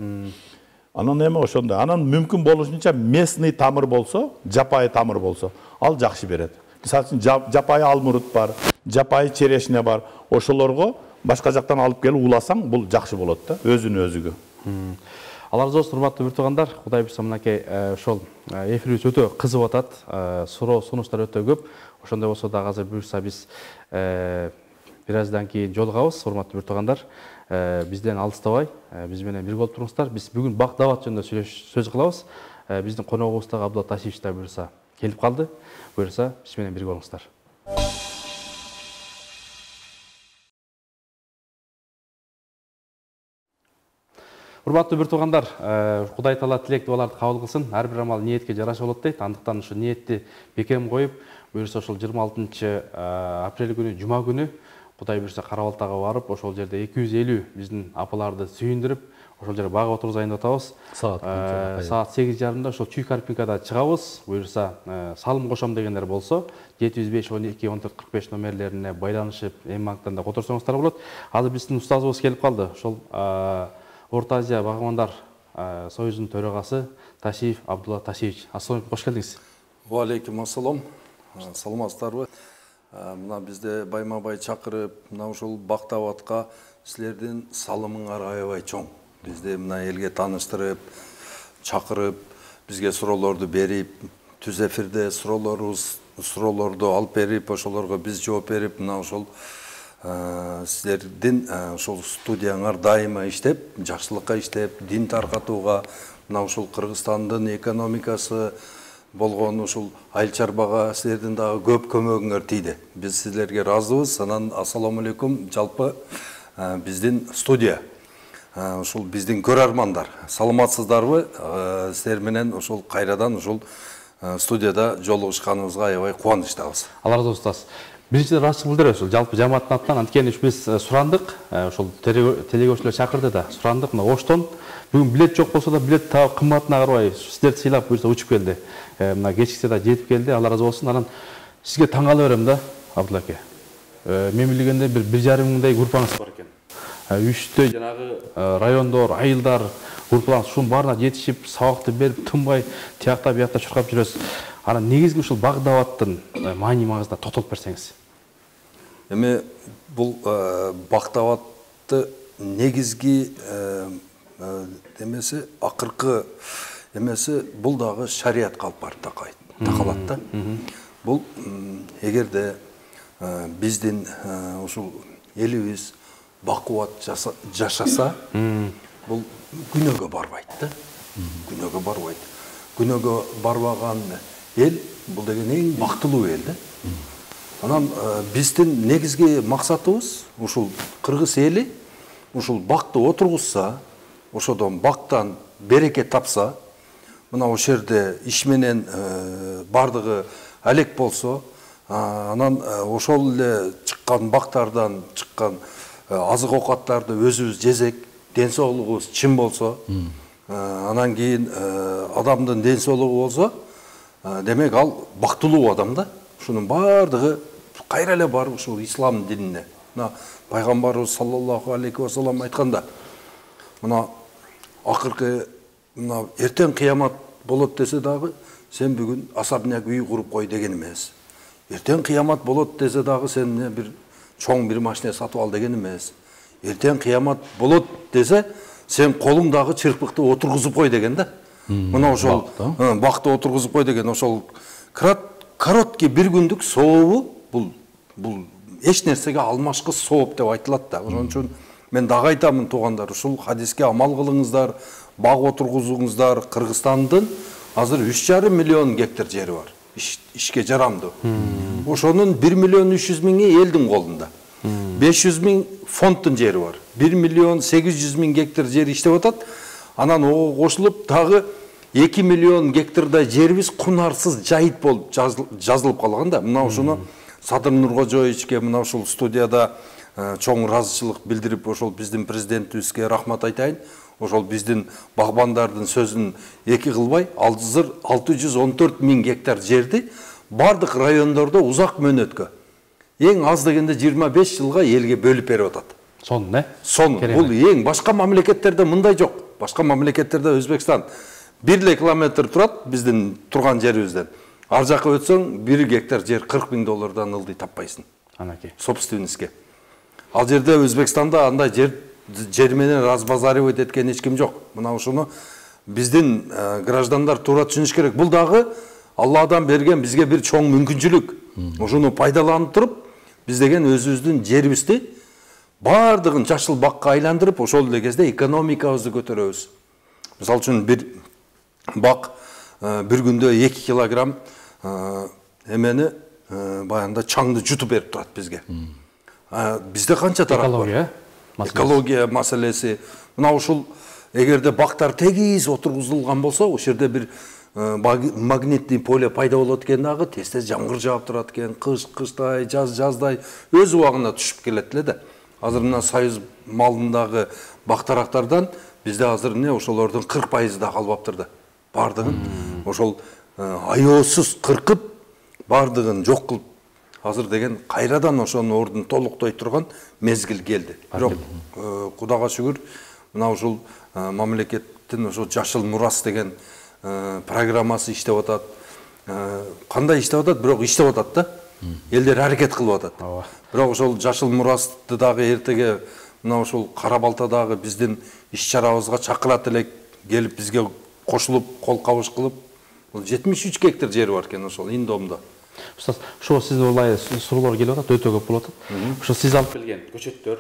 Анан эме ошондой. Анан мүмкүн болушунча местный тамыр болсо, жапайы тамыр болсо, ал жакшы берет. Мисалы үчүн жапайы алмурут бар, жапайы черешня бар. Ошолорго башка жактан алып келип уласаң, бул жакшы болот да, өзүнө өзүгө. Алла разы болсун, урматтуу бир туугандар. Кудай буйрса мынакей ошол эфирибиз өтө кызып атат. Суроо сунуштар өтө көп. Ошондой болсо да азыр буйрса биз бир аздан кийин жолугабыз, урматтуу бир туугандар. Бизден алыстабай, биз менен бирге болуп туруңуздар. Биз бүгүн бак дават жөнүндө сөз кылабыз. Биздин коногубуз дагы Абдулла Ташиевич да буйрса келип калды. Буйрса биз менен бирге болуңуздар. Урматтуу бир туугандар, Кудай Таала тилек дуаларды кабыл кылсын. Ар бир амал ниетке жараша болот дейт. Андыктан ушу ниетти бекем коюп, буйрса ошол жыйырма алтынчы апрель күнү, жума күнү Кудай буйрса Кара-Балтага барып, ошол жерде эки жүз элүү биздин апаларды сүйүндүрүп, ошол жерде багып отурузайын деп атабыз. Саат сегиз жарымда ошол Чүй Карпинкада чыгабыз. Буйрса салым кошом дегендер болсо, жети жүз беш он эки он төрт кырк беш номерлерине байланышып, эми банктан да которсоңуздар болот. Азыр биздин устазыбыз келип калды. Ошол Орто Азия Багамандар союзунун төрагасы Ташиев Абдулла Ташиевич. Ассалам алейкум, кош келдиңиз. Ва алейкум ассалам. Саламатсыздарбы? Мына бизде байма-бай чакырып, мына ушул бактабатка силердин салымыңар аябай чоң. Бизде мына элге тааныштырып, чакырып, бизге суроолорду берип, түз эфирде суроолорубуз, суроолорду алып берип, ошолорго биз жооп берип, мына ошол силердин ошол студияңар дайыма иштеп, жакшылыкка иштеп, дин таркатууга, мына ушул Кыргызстандын экономикасы болгон ушул айыл чарбага силердин дагы көп көмөгүңөр тийди. Биз силерге ыраазыбыз. Анан ассаламу алейкум, жалпы биздин студия, ушул биздин көрөрмандар, саламатсыздарбы? Силер менен ушул кайрадан ушул студияда жолугушканыбызга аябай кубанычтабыз. Алла разы болсун. Биринчиден ыраазычылык билдиребиз. Ушул жалпы жамааттын атынан, анткени биз сурандык, ошол телегөөрчүлөр чакырды да, сурандык. Мына Оштон бүгүн билет жок болсо да, билет таап кымбатына карабай сиздерди сыйлап буйрса учуп келди. Мына кечиксе да жетип келди. Алла разы болсун. Анан сизге таң кала берем да, Абдулла аке. Мен билгенде бир бир жарым миңдей группаңыз бар экен. Үчтөй жанагы райондор, айылдар группалар ушунун баарына жетишип, сабакты берип, тынбай тиякта биякта чуркап жүрөсүз. Анан негизги ушул бак даваттын маани магызына токтолуп берсеңиз. Эми бул бактабатты негизги эмеси, акыркы эмеси бул дагы шариатка алып барып такалат да. Бул эгерде биздин ушул элибиз бакубат жашаса, бул күнөөгө барбайт да. Күнөөгө барбайт. Күнөөгө барбаган эл бул деген эң бактылуу эл да. Анан биздин негизги максатыбыз ушул кыргыз эли ушул бакты отургузса, ошодон бактан береке тапса, мына ошол жерде иш менен бардыгы алек болсо, анан ошол эле чыккан бактардан чыккан азык оокаттарды өзүбүз жесек, ден соолугубуз чын болсо, анан кийин адамдын ден соолугу болсо, демек ал бактылуу адам да. Ушунун бардыгы кайра эле барып ушул ислам динине. Мына пайгамбарыбыз саллаллаху алейхи вассалам айтканда, мына акыркы мына эртең кыямат болот десе дагы, сен бүгүн асабняк үй куруп кой деген эмес. Эртең кыямат болот десе дагы, сен бир чоң бир машина сатып ал деген эмес. Эртең кыямат болот десе, сен колуңдагы чырпыкты отургузуп кой деген да. Мына ошол бакты отургузуп кой деген, ошол короткий бир күндүк сообу бул бул эч нерсеге алмашкы сооп деп айтылат да. Ошон үчүн мен дагы айтамын туугандар, ушул хадиске амал кылыңыздар, баг отургузуңуздар. Кыргызстандын азыр үч жарым миллион гектар жери бар. Ишке жарамдуу. Ошонун бир миллион үч жүз миңи элдин колунда. беш жүз миң фонддун жери бар. бир миллион сегиз жүз миң гектар жер иштеп атат. Анан ого кошулуп дагы эки миллион гектардай жерибиз кунарсыз жайыт болуп жазылып калган да. Мына ушуну Садыр Нуркожоевичке мына ушул студияда чоң ыраазычылык билдирип, ошол биздин президентибизге рахмат айтайын. ошол биздин багбандардын сөзүн эки кылбай, азыр алты жүз он төрт миң гектар жерди бардык райондордо узак мөөнөткө эң аз дегенде жыйырма беш жылга элге бөлүп берип атат. Сонун, э? Сон, бул эң башка мамлекеттерде мындай жок. Башка мамлекеттерде Өзбекстан бир эле километр турат биздин турган жерибизден. Ар жака өтсөң бир гектар жер кырк миң доллардан ылдый таппайсың. Анакей. Собственностьке. Ал жерде Өзбекстанда андай жер жер менен разбазаривать эткен эч ким жок. Мына ушуну биздин граждандар туура түшүнүш керек. Бул дагы Алладан берген бизге бир чоң мүмкүнчүлүк. Ушуну пайдаланып туруп, биз деген өзүбүздүн жерибизди бардыгын жашыл бакка айландырып, ошол эле кезде экономикабызды көтөрөбүз. Мисалы үчүн бир бак бир күндө эки килограмм эмени баягында чаңды жутуп берип турат бизге. Бизде канча тарап бар? Экология маселеси. Мына ушул эгерде бактар тегиз отургузулган болсо, ошол жерде бир магнитный поле пайда болот экен дагы, тез-тез жамгыр жаап турат экен, кыш кыштай, жаз жаздай өз убагында түшүп келет эле да. Азыр мына Союз малындагы бактарактардан бизде азыр эмне ошолордун кырк пайызы да калбаптыр да. Бардыгын ошол аеосуз кыркып, бардыгын жок кылып, азыр деген кайрадан ошонун ордун толуктой турган мезгил келди. Бирок Кудайга шүгүр, мына ушул мамлекеттин ошо жашыл мурас деген программасы иштеп атат. Кандай иштеп атат, бирок иштеп атат да. Элдер аракет кылып атат. Бирок ошол жашыл мурасты дагы эртеге мына ошол Кара Балтадагы биздин иш-чарабызга чакырат элек, келип бизге кошулуп, кол кабыш кылып, бул жетимиш үч гектар жери бар экен ошол Индомдо. Устаз, ошо сиздин улай суроолор келип атат, өтө көп болуп атат. Ошо сиз алып келген көчөттөр,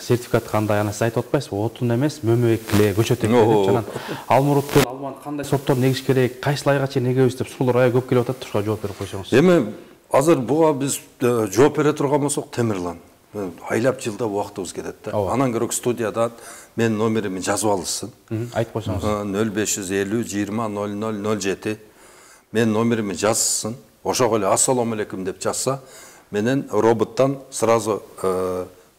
сертификат кандай, ана сиз айтып атпайсызбы? Отун эмес, мөмөбекле, көчөт экен деп жанан. Алмуруттун, алманы кандай сорттор негиш керек, кайсы айга чейин эгебиз деп суроолор аябай көп келип атат. Ошого жооп берип койсоңуз. Эми азыр буга биз жооп бере турган болсок, Темирлан айлап жылда убактыбыз кетет да. Анан көрөк студияда менин номерими жазып алышсын. Айтып койсоңуз. нөл беш жүз элүү жыйырма ноль ноль ноль жети. Менин номерими жазсын. Ошого эле ассаламу алейкум деп жазса, менен роботтан сразу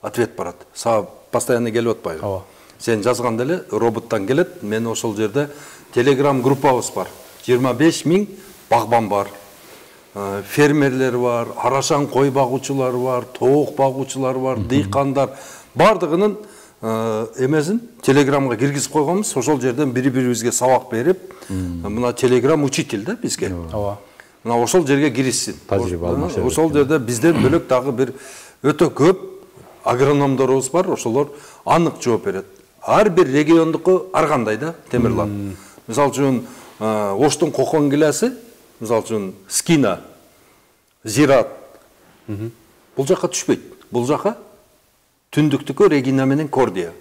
ответ барат. Сага постоянно келип атпайбы? Ооба. Сен жазганда эле роботтан келет. Мен ошол жерде Telegram группабыз бар. жыйырма беш миң багбан бар. Фермерлер бар, арашан кой багуучулар бар, тоок багуучулар бар, дыйкандар, бардыгынын эмесин Телеграмга киргизип койгонбуз. Ошол жерден бири-бирибизге сабак берип, мына Телеграм учитель да бизге. Ооба. Мына ошол жерге киришсин. Тажрыйба алмашат. Ошол жерде бизден бөлөк дагы бир өтө көп агрономдорубуз бар, ошолор анык жооп берет. Ар бир региондуку ар кандай да, Темирлан. Мисалы үчүн Оштун Кокон килеси, мисалы үчүн Скина, Зират. Бул жака түшпөйт. Бул жака түндүктүкө Регина менен Кордия.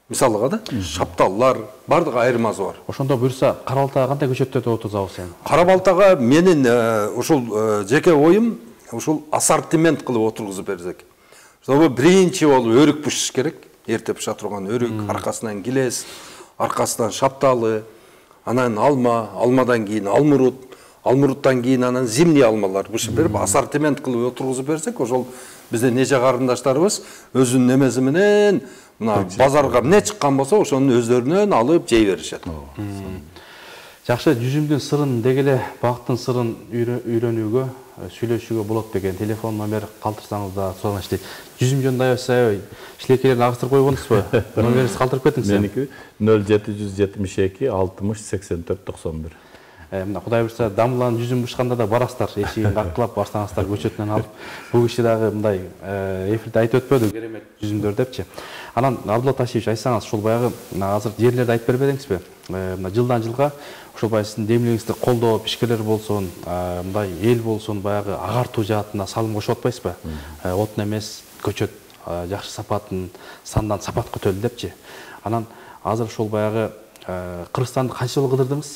Мисалыга да, шапталлар, бардык айырмасы бар. Ошондо буюрса, Кара Балтага кандай көчөттөрдү отурзабыз эми? Кара Балтага менин ушул жеке оюм, ушул ассортимент кылып отургузуп берсек. Ошо биринчи болуп өрүк пышыш керек. Эрте пыша турган өрүк, аркасынан килес, аркасынан шапталы, анан алма, алмадан кийин алмурут, алмуруттан кийин анан зимний алмалар бышып берип, ассортимент кылып отургузуп берсек, ошол биздин нече карындаштарыбыз өзүнүн эмеси менен мына базарга эмне чыккан болсо, ошонун өздөрүнөн алып жей беришет. Жакшы, жүзүмдүн сырын дегеле бактын сырын үйрөнүүгө, сүйлөшүүгө болот деген телефон номер калтырсаңыз да сураныштайт. Жүзүм жөнүндө аябай шилекейлерин агыстырып койгонсузбу? Номеринизди калтырып кетиңиз. Меники нөл жети жүз жетимиш эки алтымыш сексен төрт токсон бир. Мына Кудай буйрса, дамылан жүзүм бышканда да барасыздар, эшигин каккылап барсаңыздар көчөтүнөн алып. Бул киши дагы мындай эфирде айтып өтпөдү, керемет жүзүмдөр депчи. Анан Абдулла Ташиевич, айсаңыз, ушул баягы азыр жерлерди айтып бере бериңизби? Мына жылдан жылга ошол баягы сиздин демилигиңизди колдоо, ишкерлер болсун, мындай эл болсун, баягы агартуу жаатына салым кошуп атпайсызбы? Отун эмес, көчөт жакшы сапатын, сандан сапат көтөрүлдү депчи. Анан азыр ошол баягы Кыргызстанды канча жолу кыдырдыңыз?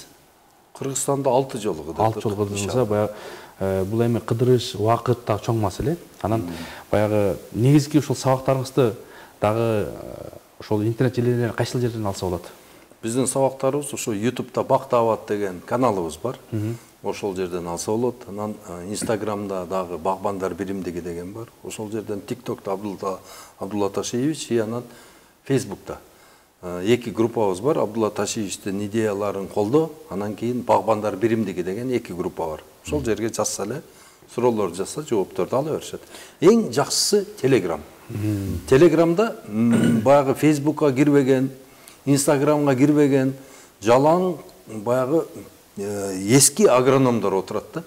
Кыргызстанда алты жолу кыдырдык. алты жолу кыдырдыңыз, баягы бул эми кыдырыш, убакыт да чоң маселе. Анан баягы негизги ушул сабактарыңызды дагы ошол интернет желелеринен кайсыл жерден алса болот? Биздин сабактарыбыз ошо YouTube'да Бактабат деген каналыбыз бар. Ошол жерден алса болот. Анан Instagram'да дагы Багбандар биримдиги деген бар. Ошол жерден TikTok'та Абдулла Абдулла Ташиевич, и анан Facebook'та. эки группабыз бар. Абдулла Ташиевичтин идеяларын колдоо, анан кийин Багбандар биримдиги деген эки группа бар. Ошол жерге жазса эле, суроолорду жазса, жоопторду ала беришет. Эң жакшысы Telegram. Телеграмда баягы Facebookка кирбеген, Instagramга кирбеген, жалаң баягы эски агрономдор отурат да.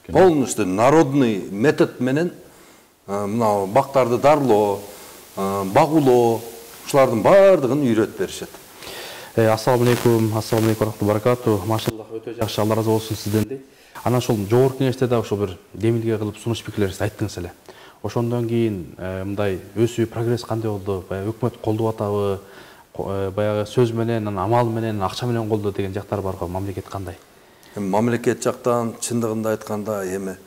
Полностью народный метод менен мына бактарды дарлоо, багуулоо, ушулардын баардыгын үйрөтүп беришет. Ассаламу алейкум, ассаламу алейкум баракату. Машаллах, өтө жакшы, Алла разы болсун сизден. Анан ошол жогорку кеңеште да ошо бир демилге кылып сунуш пикирлерди айттыңыз эле. Ошондон кийин мындай өсүү, прогресс кандай болду? Баягы өкмөт колдоп атабы? Баягы сөз менен, амал менен, акча менен колдоо деген жактар барго, мамлекет кандай? Мамлекет жактан чындыгында айтканда эми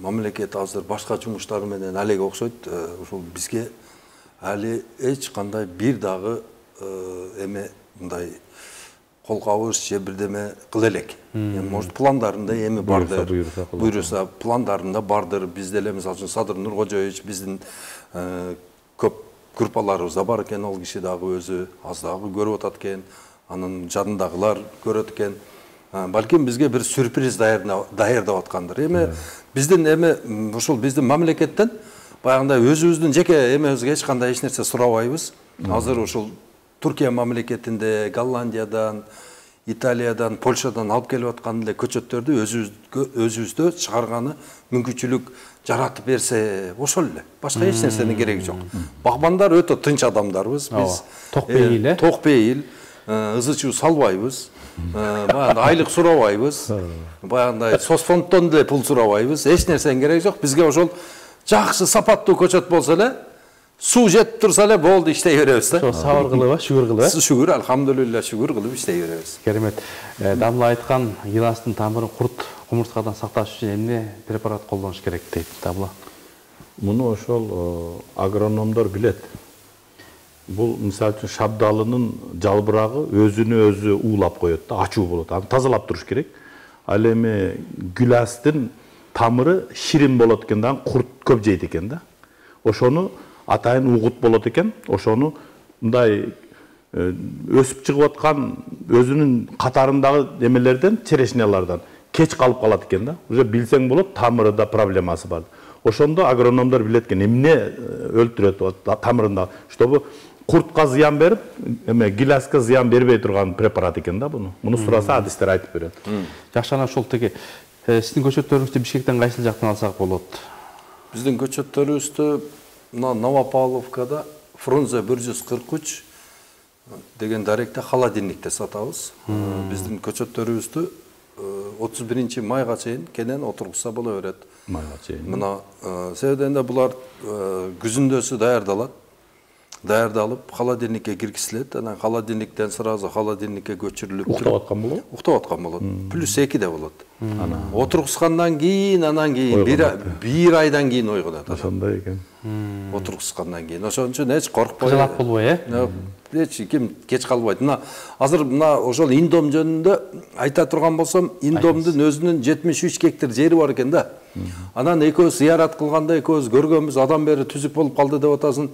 мамлекет азыр башка жумуштар менен алеге окшойт. Ошол бизге али эч кандай бир дагы эме мындай колкабыз же бирдеме кыла элек. Может пландарында эми бардыр. Буйруса пландарында бардыр. Биз деле мисалы үчүн Садыр Нуркожоевич биздин көп группаларыбызда бар экен, ал киши дагы өзү аз дагы көрүп атат экен. Анын жанындагылар көрөт экен. Балким бизге бир сюрприз даярдап аткандыр. Эми биздин эми ушул биздин мамлекеттен баягындай өзүбүздүн жеке эмебизге эч кандай эч нерсе сурабайбыз. Азыр ушул Туркия мамлекетинде, Голландиядан, Италиядан, Польшадан алып келип аткан эле көчөттөрдү өзүбүздө чыгарганы мүмкүнчүлүк жаратып берсе, ошол эле. Башка эч нерсенин кереги жок. Багбандар өтө тынч адамдарбыз. Биз токпейил, э? Токпейил, ызы-чуу салбайбыз. Баягындай айлык сурабайбыз. Баягындай соцфонддон деле пул сурабайбыз. Эч нерсенин кереги жок. Бизге ошол жакшы сапаттуу көчөт болсо эле, суу жетип турса эле болду, иштей беребиз да. Ошо сабыр кылып, шүгүр кылып, э? Шүгүр, алхамдулилла, шүгүр кылып иштей беребиз. Керемет. Дамла айткан, гиластын тамырын курт, кумурскадан сакташ үчүн эмне препарат колдонуш керек дейт Дамла? Муну ошол агрономдор билет. Бул мисалы үчүн шабдалынын жалбырагы өзүнө өзү уулап коет да, ачуу болот. Аны тазалап туруш керек. Ал эми гүластын тамыры ширин болот экен да, курт көп жейт экен да. Ошону атайын угут болот экен. Ошону мындай өсүп чыгып аткан өзүнүн катарындагы эмелерден, черешнялардан кеч калып калат экен да. Уже билсең болот, тамырында проблемасы бар. Ошондо агрономдор билет экен, эмне өлтүрөт тамырында, чтобы куртка зыян берип, эме гиласка зыян бербей турган препарат экен да буну. Муну сураса адистер айтып берет. Жакшы, анан ошол теги сиздин көчөттөрүңүздү Бишкектен кайсыл жактан алсак болот? Биздин көчөттөрүбүздү мына Новопавловкада Фрунзе бир жүз кырк үч деген даректе холодильникте сатабыз. Биздин көчөттөрүбүздү отуз биринчи майга чейин кенен отургузса боло берет. Майга чейин. Мына себебинде булар күзүндөсү даярдалат. Даярдалып, холодильникке киргизилет. Анан холодильниктен сразу холодильникке көчүрүлүп, уктап аткан болот. Уктап аткан болот. Плюс эки де болот. Отургузгандан кийин, анан кийин бир айдан кийин ойгонот. Ошондой экен. Отургузгандан кийин. Ошон үчүн эч коркпой. Кыжалат болбой, э? Эч ким кеч калбайт. Мына азыр мына ошол Индом жөнүндө айта турган болсом, Индомдун өзүнүн жетимиш үч гектар жери бар экен да. Анан экөөбүз зыярат кылганда экөөбүз көргөнбүз, адам бери түзүк болуп калды деп атасың.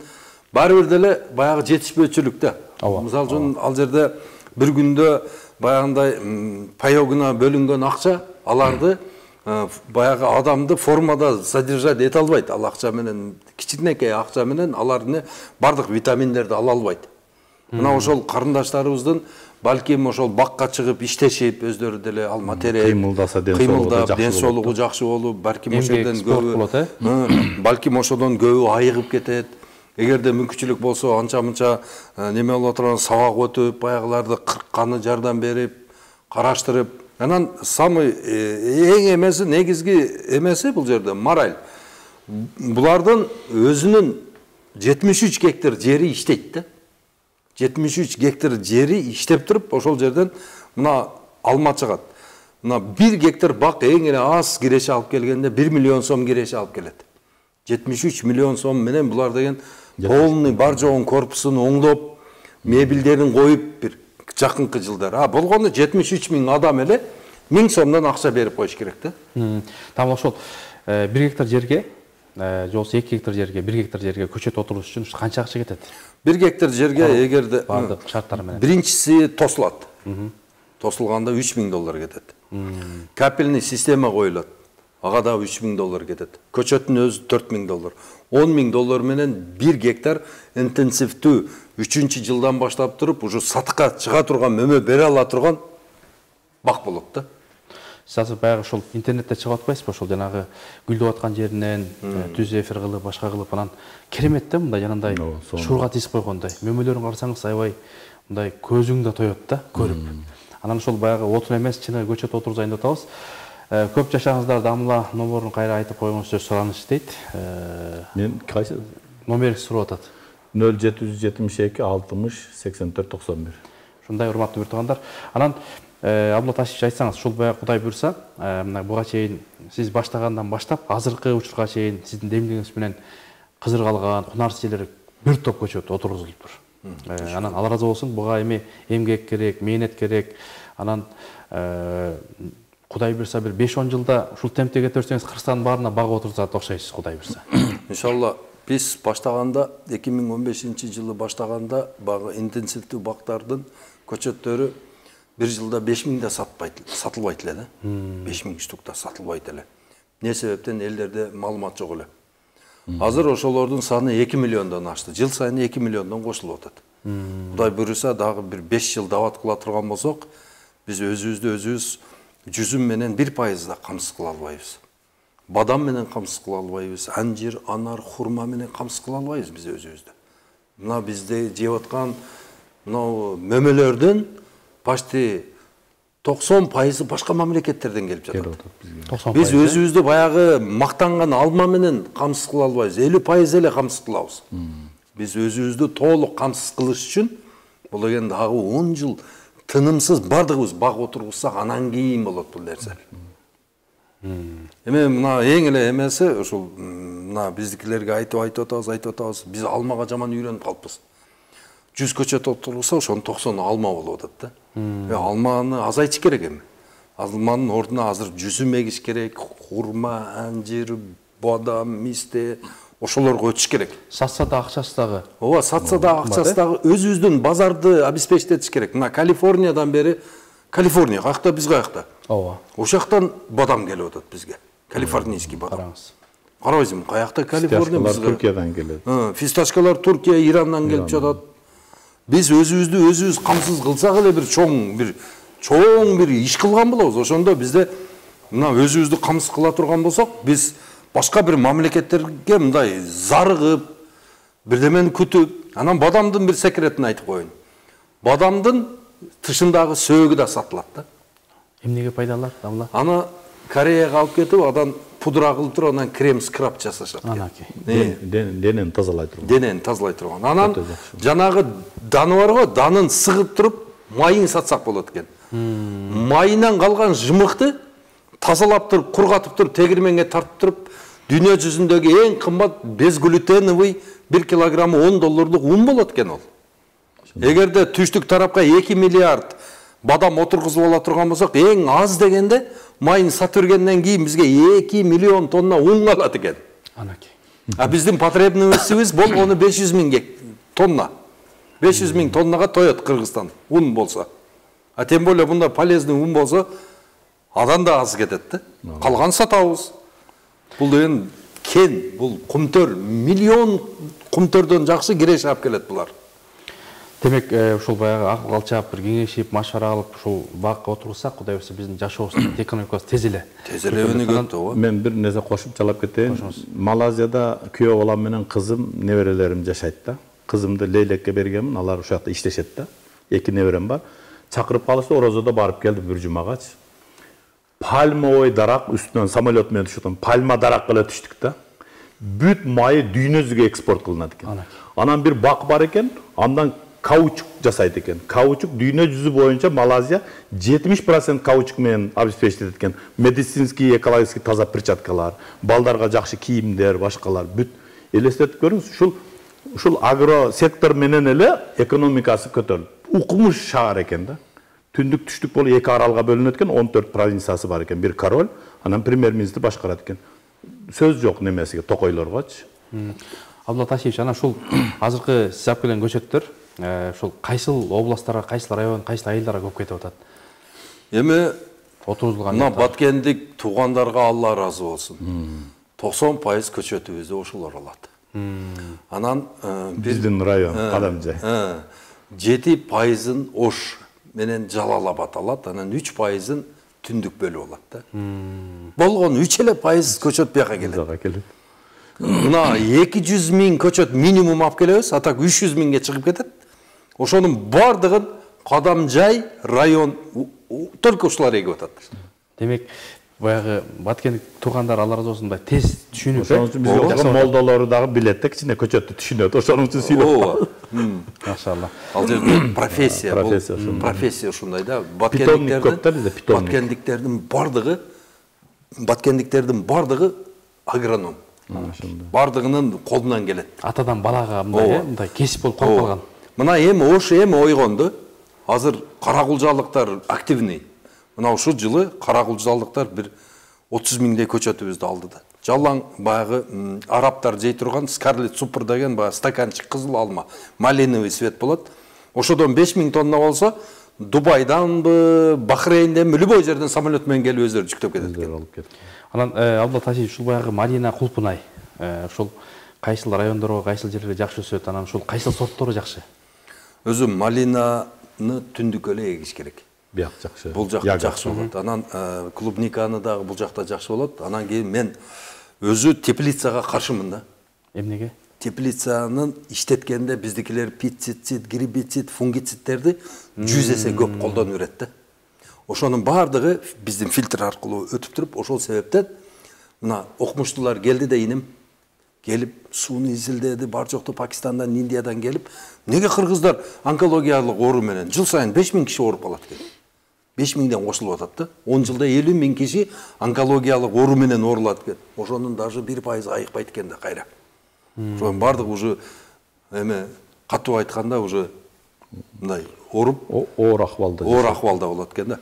Баары бир деле баягы жетишпөөчүлүк да. Мисалы үчүн ал жерде бир күндө баягындай паёгуна бөлүнгөн акча, аларды баягы адамды формада содержать эте албайт. Ал акча менен, кичинекей акча менен алардын бардык витаминдерди ала албайт. Мына ошол карындаштарыбыздын балким ошол бакка чыгып иштешип, өздөрү деле ал материал кыймылдаса, ден соолугу жакшы болуп, балким ошодон көбү, балким ошодон көбү айыгып кетет. Эгерде мүмкүнчүлүк болсо, анча-мынча неме болот турган сабак өтүп, баягыларды кыркканы жардам берип, караштырып, анан самый эң эмеси, негизги эмеси бул жерде мораль. Булардын өзүнүн жетимиш үч гектар жери иштейт да. жетимиш үч гектар жери иштеп туруп, ошол жерден мына алма чыгат. Мына бир гектар бак эң эле аз киреше алып келгенде бир миллион сом киреше алып келет. жетимиш үч миллион сом менен булар деген полный бар жогун корпусун оңдоп, мебелдерин коюп бир жакынкы жылдар. А болгондо жетимиш үч миң адам эле миң сомдон акча берип коюш керек да. Там ошол бир гектар жерге же болбосо эки гектар жерге, бир гектар жерге көчөт отургуз үчүн канча акча кетет? бир гектар жерге эгерде бардык шарттары менен. Биринчиси тосулат. Тосулганда үч миң доллар кетет. Капельный система коюлат. Ага да үч миң доллар кетет. Көчөттүн өзү төрт миң доллар. он миң доллар менен бир гектар интенсивдүү үчүнчү жылдан баштап туруп уже сатыкка чыга турган, мөмө бере ала турган бак болот да. Сиз баягы ушул интернетте чыгып атпайсызбы? Ошол жанагы гүлдөп аткан жеринен түз эфир кылып, башка кылып анан керемет да, мындай жанагындай шуурга тизип койгондой. Мөмөлөрүн карасаңыз аябай мындай көзүң да тоет да көрүп. Анан ошол баягы отун эмес, чыны көчөт отурузайын деп атабыз. Көп жашаңыздар, Дамла номерин кайра айтып коюңуз, сураныч дейт. Мен кайсы номерди сурап атат. нөл жети жүз жетимиш эки алтымыш сексен төрт токсон бир. Ушундай урматтуу бир туугандар. Анан Абдулла Ташевич, айтсаңыз, ушул баягы Кудай буйрса, мына буга чейин сиз баштагандан баштап азыркы учурга чейин сиздин демилгиңиз менен кызыргалган, кунарчылар бир топ көчөт отургузулуптур. Анан Алла ыраазы болсун, буга эми эмгек керек, мээнет керек. Анан Кудай буйрса бир беш он жылда ушул темпте кете берсеңиз, Кыргызстандын баарына баг отурузат окшойсуз, Кудай буйрса. Иншалла, биз баштаганда эки миң он бешинчи жылы баштаганда багы интенсивдүү бактардын көчөттөрү бир жылда беш миңде сатылбайт эле да. беш миң штукта сатылбайт эле. Не себептен? Элдерде маалымат жок эле. Азыр ошолордун саны эки миллиондон ашты. Жыл сайын эки миллиондон кошулуп атат. Кудай буйруса дагы бир беш жыл дават кыла турган болсок, биз өзүбүздү өзүбүз жүзүм менен бир пайыз да камсыз кыла албайбыз. Бадам менен камсыз кыла албайбыз. Анжир, анар, хурма менен камсыз кыла албайбыз биз өзүбүздү. Мына бизде жеп аткан мына мөмөлөрдүн почти токсон пайызы башка мамлекеттерден келип жатат. Биз өзүбүздү баягы мактанган алма менен камсыз кыла албайбыз. элүү пайыз эле камсыз кылабыз. Биз өзүбүздү толук камсыз кылыш үчүн бул деген дагы он жыл тынымсыз бардыгыбыз баг отургузсак, анан кийин болот бул нерсе. Эми мына эң эле эмеси ушул мына биздикилерге айтып айтып атабыз, айтып атабыз. Биз алмага жаман үйрөнүп калыппыз. жүз көчөт отургузса, ошонун токсону алма болуп атат да. Алманы азайтыш керек эми. Алманын ордуна азыр жүзүм эгиш керек, хурма, анжир, бадам, мисте, ошолорго өтүш керек. Сатса да акчасы дагы. Ооба, сатса да акчасы дагы өзүбүздүн базарды обеспечить керек. Мына Калифорниядан бери, Калифорния каякта, биз каякта? Ооба. Ошол жактан бадам келип атат бизге. Калифорнийский бадам. Караңыз. Карабайсызбы, каякта Калифорния бизге? Туркиядан келет. Фисташкалар Туркия, Ирандан келип жатат. Биз өзүбүздү өзүбүз камсыз кылсак эле бир чоң бир чоң бир иш кылган болобуз. Ошондо бизде мына өзүбүздү камсыз кыла турган болсок, биз башка бир мамлекеттерге мындай зарыгып, бирдемени күтүп, анан бадамдын бир секретин айтып коеюн. Бадамдын тышындагы сөөгү да сатылат да. Эмнеге пайдалар, Дамла? Аны Кореяга алып кетип, адан пудра кылып туруп, анан крем скраб жасашат. Анакей. Денени тазалай турган. Денени тазалай турган. Анан жанагы даны бар го, данын сыгып туруп, майын сатсак болот экен. Майынан калган жымыкты тазалап туруп, кургатып туруп, тегирменге тартып туруп, дүйнө жүзүндөгү эң кымбат безглютеновый бир килограммы он долларлык ун болот экен ол. Эгерде түштүк тарапка эки миллиард бадам отургузуп ала турган болсок, эң аз дегенде майын сатып бергенден кийин бизге эки миллион тонна ун калат экен. Анакей. А биздин потребностьибиз болгону беш жүз миң тонна. беш жүз миң тоннага тоет Кыргызстан ун болсо. А тем более бунда полезный ун болсо, адан да аз кетет да. Калган сатабыз. Бул деген кен, бул кумтөр, миллион кумтөрдөн жакшы киреш алып келет булар. Демек, ушул баягы акыл калчап, бир кеңешип, машвара алып, ушул бакка отурсак, Кудай буйрса биздин жашообуздун экономикасы тез эле. Тез эле өнүгөт ооба. Мен бир нерсе кошуп жалап кетейин. Малайзияда күйөө балам менен кызым, неберелерим жашайт да. Кызымды Лейлекке бергенмин, алар ошол жакта иштешет да. Эки неберем бар. Чакырып калышты, Орозодо барып келди бир жумагачы. Пальмовый дарак үстүнөн самолет менен түшүп, пальма дарак эле түштүк да. Бүт майы дүйнө жүзүгө экспорт кылынат экен. Анан бир бак бар экен, андан каучук жасайт экен. Каучук дүйнө жүзү боюнча Малайзия жетимиш процент каучук менен обеспечить экен. Медицинский, экологический таза перчаткалар, балдарга жакшы кийимдер, башкалар бүт элестетип көрүңүз. Ушул ушул агро сектор менен эле экономикасы көтөрүлүп. Укмуш шаар экен да. Түндүк түштүк болуп эки аралга бөлүнөт экен, он төрт провинциясы бар экен. Бир король, анан премьер-министр башкарат экен. сөз жок немесиге, токойлоргочу. Абдулла Ташиевич, ана ушул азыркы сиз алып келген көчөттөр ушул кайсыл областтарга, кайсыл район, кайсыл айылдарга көп кетип атат? Эми отурузулган. Мына Баткендик туугандарга Алла ыраазы болсун. токсон пайыз көчөтүбүздү ошолор алат. Анан биздин район Кадамжай. жети пайызын Ош менен Жалал-Абад алат, анан үч пайызын Түндүк бөлүп алат да. Болгон үч эле пайыз көчөт бияка келет. Мына эки жүз миң көчөт минимум алып келебиз, а так үч жүз миңге чыгып кетет. Ошонун бардыгын Кадамжай район только ушулар эгип атат. Демек, баягы Баткендик туугандар Алла ыраазы болсун, тез түшүнүп, ошон үчүн биздин молдолору дагы билет да, кичине көчөттү түшүнөт. Ошон үчүн сүйлөп. Машалла. Ал жерде профессия, бул профессия ушундай да. Баткендиктердин Баткендиктердин бардыгы Баткендиктердин бардыгы агроном. Бардыгынын колунан келет. Атадан балага мындай, мындай кесип болуп калып калган. Мына эми Ош эми ойгонду. Азыр каракулжалыктар активный. Мына ушул жылы каракулжалыктар бир отуз миңдей көчөтүбүздү алды да. Жалаң баягы арабтар жей турган Скарлет Супер деген баягы стаканчык кызыл алма, малиновый цвет болот. Ошодон беш миң тонна болсо, Дубайданбы, Бахрейнденби, любой жерден самолет менен келип өздөрү жүктөп кетет экен. Анан Абдулла Ташиевич, ушул баягы Малина, Кулпунай, ушул кайсыл райондорго, кайсыл жерлерде жакшы өсөт, анан ушул кайсыл сорттору жакшы? Өзү Малинаны түндүк эле эгиш керек. Бияк жакшы. Бул жакта жакшы болот. Анан клубниканы дагы бул жакта жакшы болот. Анан кийин мен өзү теплицага каршымын да. Эмнеге? Теплицанын иштеткенде биздикилер пицицид, гербицид, фунгицидтерди жүз эсе көп колдонуп берет да. Ошонун бардыгы биздин фильтр аркылуу өтүп туруп, ошол себептен мына окумуштуулар келди да инем келип сууну изилдеди, бар жокту Пакистандан, Индиядан келип, неге кыргыздар онкологиялык оору менен жыл сайын беш миң киши ооруп калат экен. беш миңден кошулуп атат да. он жылда элүү миң киши онкологиялык оору менен оорулат экен. Ошонун даже бир пайызы айыкпайт экен да кайра. Ошонун бардыгы уже эме катуу айтканда уже мындай ооруп, оор акыбалда. Оор акыбалда болот экен да.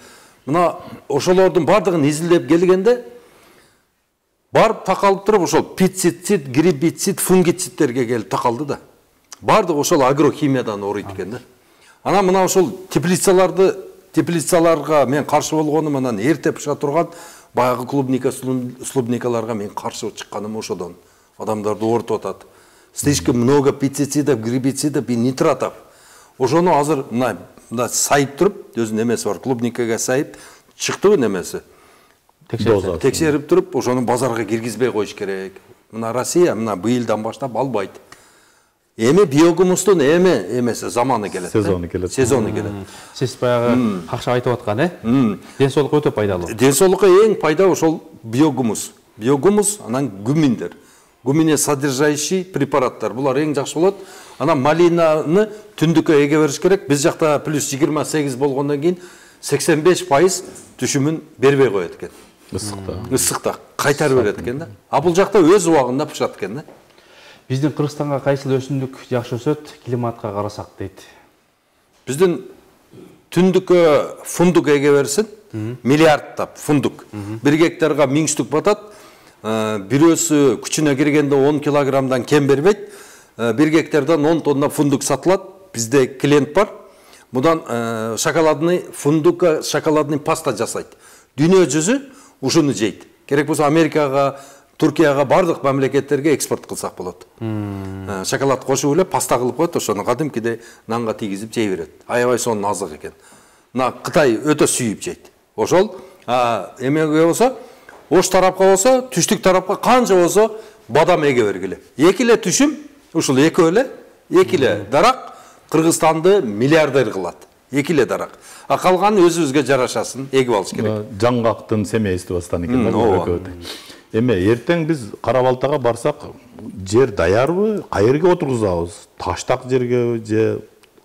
Мына ошолордун бардыгын изилдеп келгенде барып такалып туруп ошол пицицид, гербицид, фунгицидтерге келип такалды да. Бардыгы ошол агрохимиядан ооруйт экен да. Анан мына ошол теплицаларды теплицаларга мен каршы болгонум, анан эрте пыша турган баягы клубника, слубникаларга мен каршы чыкканым ошодон. Адамдарды оорутуп атат. Слишком много пестицидов, гербицидов и нитратов. Ошону азыр мына мына сайып туруп, өзүнүн эмеси бар, клубникага сайып чыктыбы немеси. Текшерип туруп, ошону базарга киргизбей коюш керек. Мына Россия мына быйылдан баштап албайт. Эми биогумустун эми эмеси заманы келет. Сезону келет. Сезону келет. Сиз баягы какша айтып аткан, э? Ден соолукка өтө пайдалуу. Ден соолукка эң пайда ошол биогумус. Биогумус, анан гуминдер. Гумине содержащий препараттар. Булар эң жакшы болот. Анан малинаны түндүккө эге бериш керек. Биз жакта плюс жыйырма сегиз болгондон кийин сексен беш пайыз түшүмүн бербей коет экен. Ысыкта. Ысыкта кайтарып берет экен да. А бул жакта өз убагында пышат экен да. Биздин Кыргызстанга кайсыл өсүмдүк жакшы өсөт, климатка карасак дейт. Биздин түндүккө фундук эге берсин, миллиардтап фундук. Бир гектарга миң штук батат. Бирөөсү күчүнө киргенде он килограммдан кем бербейт. Бир гектардан он тонна фундук сатылат. Бизде клиент бар. Мудан шоколадный фундукка шоколадный паста жасайт. Дүйнө жүзү ушуну жейт. Керек болсо Америкага, Туркияга, бардык мамлекеттерге экспорт кылсак болот. Шоколад кошуп эле паста кылып коет, ошону кадимкидей нанга тийгизип жей берет. Аябай сонун азык экен. Мына Кытай өтө сүйүп жейт. Ошол эмеге болсо, Ош тарапка болсо, түштүк тарапка канча болсо бадам эге бергиле. Эки эле түшүм, ушул экөө эле, эки эле дарак Кыргызстанды миллиардер кылат. Эки эле дарак. А калганы өзүбүзгө жарашасын эгип алыш керек. Жаңгактын семействосунан экен да. Эме эртең биз Кара Балтага барсак, жер даярбы, кайерге отургузабыз? Таштак жерге же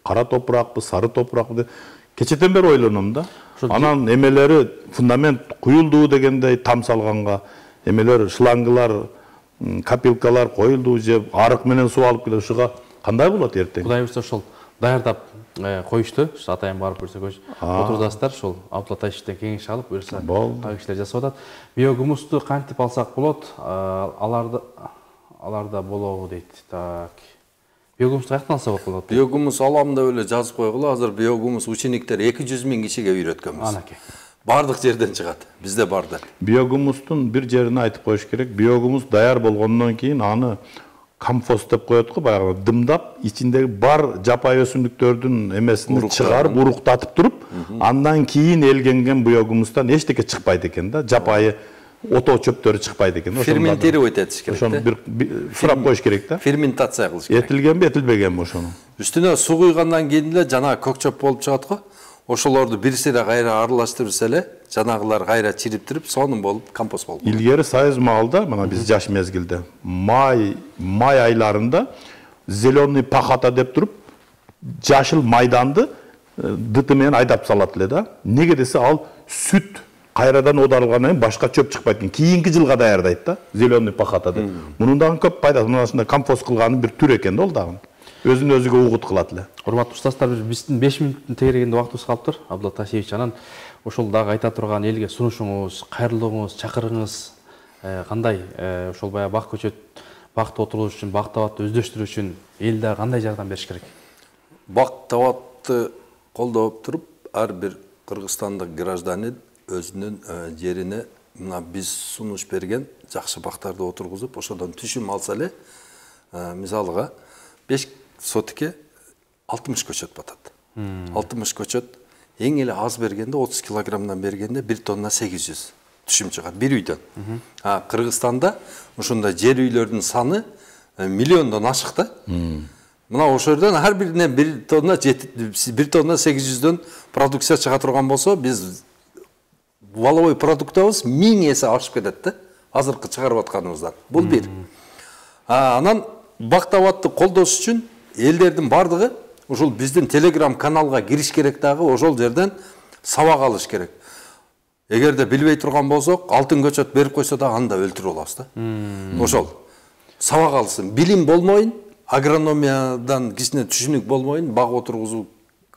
кара топуракпы, сары топуракпы? Кечеден бери ойлоном да. Анан эмелери фундамент куюлду дегендей там салганга, эмелер шлангылар, капилкалар коюлду же арык менен суу алып келе ушуга кандай болот эртең? Кудай буйрса ошол даярдап коюшту. Атайын барып көрсө отурдасыздар, ошол Абдулла Тайшевден кеңеш алып, буюрса ага кишилер жасап атат. Биогумусту кантип алсак болот? Аларды аларда болобу дейт. Так. Биогумусту каяктан алса болот? Биогумус алам деп эле жазып койгула. Азыр биогумус учениктер эки жүз миң кишиге үйрөткөнбүз. Анакей. Бардык жерден чыгат. Бизде бар да. Биогумустун бир жерине айтып коюш керек. Биогумус даяр болгондон кийин аны компост деп коет го, баягы дымдап, ичиндеги бар жапайы өсүмдүктөрдүн эмесин чыгарып, уруктатып туруп, андан кийин элгенген биогумустан эчтеке чыкпайт экен да. Жапайы ото чөптөрү чыкпайт экен. Ферментировать этиш керек. Ошону бир сурап коюш керек да. Ферментация кылыш керек. Этилгенби, этилбегенби ошону. Үстүнө суу куйгандан кийин эле жана көк чөп болуп чыгат го. Ошолорду бир сыйра кайра аралаштырса эле, жанагылар кайра чириптирип, сонун болуп компост болуп. Илгери союз маалда, мына биз жаш мезгилде, май май айларында зеленый пахота деп туруп, жашыл майданды дыты менен айдап салат эле да. Неге десе, ал сүт кайрадан оодарылгандан кийин башка чөп чыкпайт экен. Кийинки жылга даярдайт да, зеленый пахота деп. Мунун дагы көп пайдасы, мынасында компост кылганын бир түр экен да ол дагы. Өзүн өзүгө угут кылат эле. Урматтуу устаздар, биздин беш мүнөттүн тегерегенде убактыбыз калыптыр. Абдулла Тайшевич, анан ошол дагы айта турган элге сунушуңуз, кайрылууңуз, чакырыгыңыз кандай? Ошол баягы бак көчөт бакта отуруу үчүн, бак табатты өздөштүрүү үчүн эл дагы кандай жардам бериш керек? Бак табатты колдоп туруп, ар бир кыргызстандык гражданин өзүнүн жерине мына биз сунуш берген жакшы бактарды отургузуп, ошодон түшүм алса эле, мисалга беш сотикке алтымыш көчөт батат. алтымыш көчөт эң эле аз бергенде отуз килограммдан бергенде бир тонна сегиз жүз түшүм чыгат бир үйдөн. А Кыргызстанда ушундай жер үйлөрдүн саны миллиондон ашык да. Мына ошол жерден ар бирине бир тонна бир тонна сегиз жүздөн продукция чыга турган болсо, биз валовой продуктыбыз миң эсе ашып кетет да. Азыркы чыгарып атканыбыздан. Бул бир. А анан бак табатты колдош үчүн элдердин бардыгы ушул биздин телеграм каналга кириш керек дагы, ошол жерден сабак алыш керек. Эгерде билбей турган болсок, алтын көчөт берип койсо да аны да өлтүрүп алабыз да. Ошол сабак алсын. Билим болмойн, агрономиядан кичине түшүнүк болмойн, бак отургузуу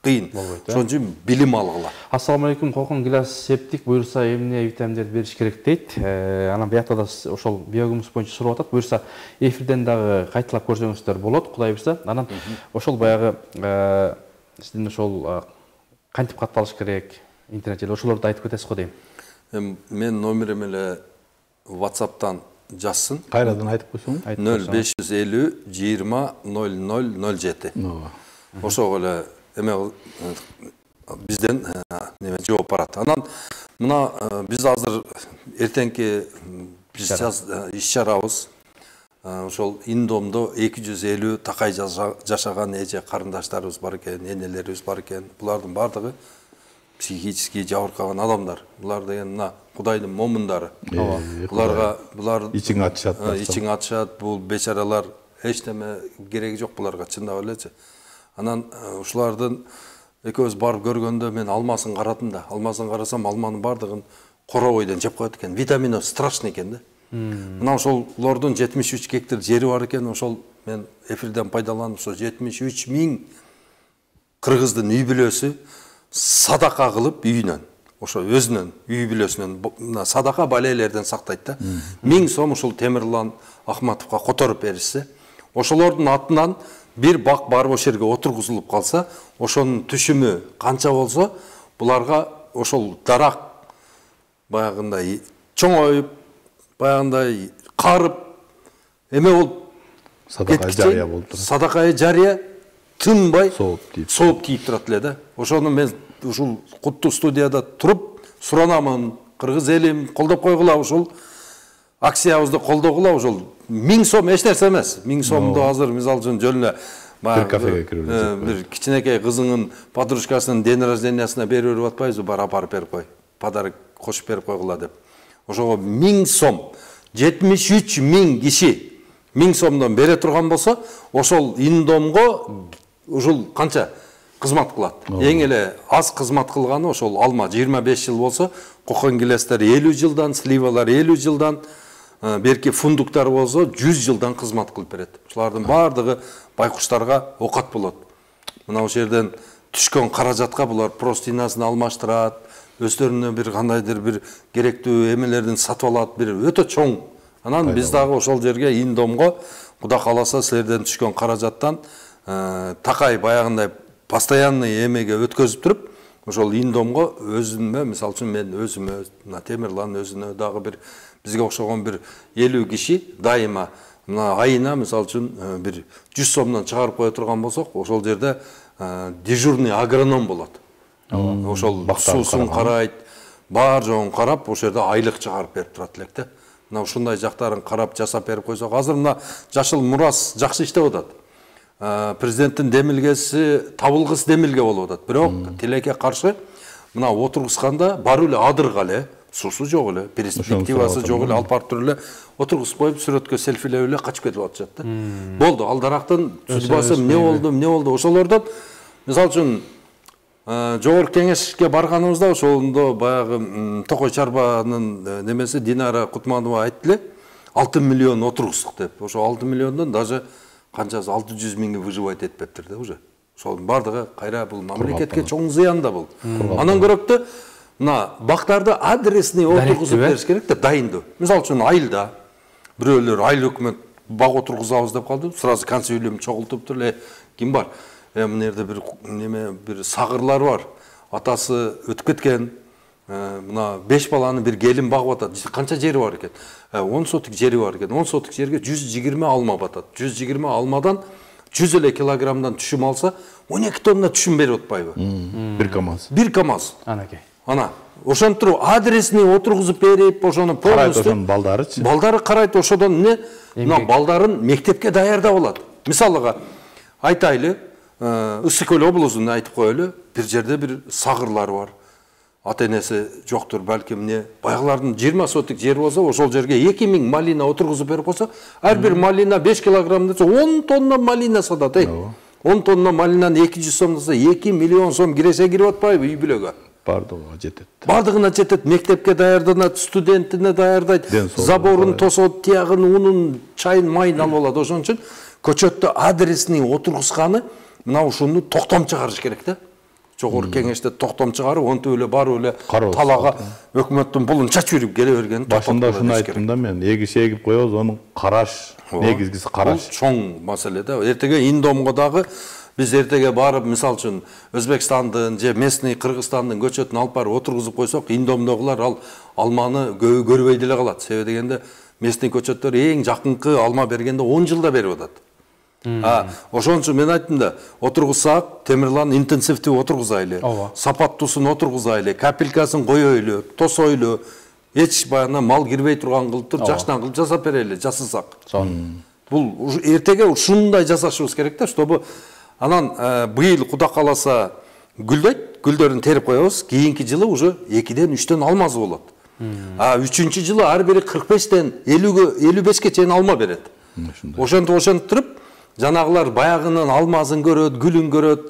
кыйын. Ошон үчүн билим алгыла. Ассаламу алейкум, Колкон Гилас септик буюрса эмне витаминдерди бериш керек дейт. Анан биякта да ошол биогумус боюнча сурап атат. Буюрса эфирден дагы кайталап көрсөңүздөр болот, Кудай буйрса. Анан ошол баягы сиздин ошол кантип катталыш керек, интернет желе ошолорду айтып кетесиз го дейм. Мен номерим эле WhatsApp'тан жазсын. Кайрадан айтып койсоң? нөл беш жүз элүү жыйырма ноль ноль ноль жети. Ошого эле эме бизден неме жооп барат. Анан мына биз азыр эртеңки биз иш чарабыз ошол Индомдо эки жүз элүү такай жашаган эже карындаштарыбыз бар экен, энелерибиз бар экен. Булардын бардыгы психически жабыркаган адамдар. Булар деген мына Кудайдын момундары. Буларга булар ичиң ачышат. Ичиң ачышат. Бул бечаралар эч неме кереги жок буларга, чындап элечи. Анан ушулардын экөөбүз барып көргөндө мен алмасын карадым да. Алмасын карасам, алманын бардыгын коробойдон жеп коет экен. Витамини страшный экен да. Мына ошолордун жетимиш үч гектар жери бар экен. Ошол мен эфирден пайдаланып, ошо жетимиш үч миң кыргыздын үй бүлөсү садака кылып үйүнөн, ошо өзүнүн үй бүлөсүнөн садака балелерден сактайт да. миң сом ушул Темирлан Ахматовго которуп беришсе, ошолордун атынан бир бак барып ошол жерге отургузулуп калса, ошонун түшүмү канча болсо, буларга ошол дарак баягындай чоңоюп, баягындай карып, эме болуп садака жарыя болуп турат. Садака жарыя тынбай сооп тийип сооп тийип турат эле да. Ошону мен ушул куттуу студияда туруп суранамын, кыргыз элим колдоп койгула, ушул акциябызды колдогула. Ошол миң сом эч нерсе эмес. миң сомду азыр мисалы үчүн жөнүнө бир кафеге кирип бир кичинекей кызыңын подружкасынын день рождениясына берип берип атпайбызбы, бар апарып берип кой, подарок кошуп берип койгула деп. Ошого миң сом, жетимиш үч миң киши миң сомдон бере турган болсо, ошол Индомго ушул канча кызмат кылат. Эң эле аз кызмат кылганы ошол алма жыйырма беш жыл болсо, Колкон Гилестер элүү жылдан, сливалар элүү жылдан, берки фундуктар болсо жүз жылдан кызмат кылып берет. Ушулардын бардыгы байкуштарга окат болот. Мына ошол жерден түшкөн каражатка булар простынясын алмаштырат, өздөрүнө бир кандайдыр бир керектүү эмелердин сатып алат, бир өтө чоң. Анан биз дагы ошол жерге Индомго Кудай кааласа силерден түшкөн каражаттан такай баягындай постоянный эмеге өткөзүп туруп, ошол Индомго өзүмө, мисалы үчүн мен өзүмө, мына Темирлан өзүнө дагы бир бизге окшогон бир элүү киши дайыма мына айына мисалы үчүн бир жүз сомдон чыгарып кое турган болсок, ошол жерде дежурный агроном болот. Ошол суусун карайт, бар жоон карап, ошол жерде айлык чыгарып берип турат элек да. Мына ушундай жактарын карап жасап берип койсок, азыр мына Жашыл Мурас жакшы иштеп атат. Президенттин демилгеси табылгыс демилге болуп атат. Бирок тилекке каршы мына отургусканда барып эле адырга эле, суусу жок эле, перспективасы жок эле, алып барып туруп эле отургузуп коюп сүрөткө селфилеп эле качып кетип атышат да. Болду, алдарактын судьбасы эмне болду, эмне болду? Ошолордон мисалы үчүн жогорку кеңешке барганыбызда ошондо баягы Токой Чарбанын немеси Динара Кутманова айтты эле, алты миллион отургуздук деп. Ошо алты миллиондон даже канчасы алты жүз миңи выживать этпептир да уже. Ошонун бардыгы кайра бул мамлекетке чоң зыян да бул. Андан көрөктө мына бактарды адресный отургузуп бериш керек да, дайындоо. Мисалы үчүн айылда бирөөлөр айыл өкмөт бак отургузабыз деп калды, сразу консилиум чогултуп туруп эле ким бар? Э мына жерде бир неме бир сагырлар бар. Атасы өтүп кеткен. Мына беш баланы бир келин багып атат. Канча жери бар экен? он сотик жери бар экен. он сотик жерге жүз жыйырма алма батат. жүз жыйырма алмадан жүз эле килограммдан түшүм алса, он эки тонна түшүм берип атпайбы? Бир камаз. Бир камаз. Анакей. Ана, ошентип адресный отургузуп берип, ошону полностью ошонун балдарычы. Балдары карайт, ошодон эмне? Мына балдарын мектепке даярдап алат. Мисалыга айтайлы, Ысык Көл облусунда айтып коелу, бир жерде бир сагырлар бар. Ата-энеси жоктур, балким эмне, баягылардын жыйырма сотик жери болсо, ошол жерге эки миң малина отургузуп берип койсо, ар бир малина беш килограмм десе, он тонна малина сатат, эй. он тонна малинаны эки жүз сом десе, эки миллион сом киресе кирип атпайбы үй бүлөгө? Бардыгына жетет. Бардыгына жетет, мектепке даярданат, студентине даярдайт, заборун тосот, тиягын, унун, чайын, майын алып алат. Ошон үчүн көчөттө адресный отургузганы мына ушуну токтом чыгарыш керек да. Жогорку кеңеште токтом чыгарып, онтип эле барып эле талага өкмөттүн пулун чачып жүрүп келе бергени. Башында ушуну айттым да мен, эгиш эгип коебуз, анын караш, негизгиси караш. Бул чоң маселе да. Эртеге Индомго дагы биз эртеге барып, мисалы үчүн Өзбекстандын же местный Кыргызстандын көчөтүн алып барып отургузуп койсок, Индомдогулар ал алманы көрбөй деле калат. Себеби дегенде местный көчөттөр эң жакынкы алма бергенде он жылда берип атат. А, ошон үчүн мен айттым да, отургузсак, Темирлан интенсивдүү отургузайлы, сапаттуусун отургузайлы, капелькасын коёйлу, тосойлу, эч баягы мал кирбей турган кылып туруп, жакшынан кылып жасап берели, жасасак. Бул эртеге ушундай жасашыбыз керек да, чтобы анан быйыл Кудай кааласа гүлдөйт, гүлдөрүн терип коебуз, кийинки жылы уже экиден үчтөн алмазы болот. А үчүнчү жылы ар бири кырк бештен элүү бешке чейин алма берет. Ошентип ошентип туруп жанагылар баягынын алмазын көрөт, гүлүн көрөт.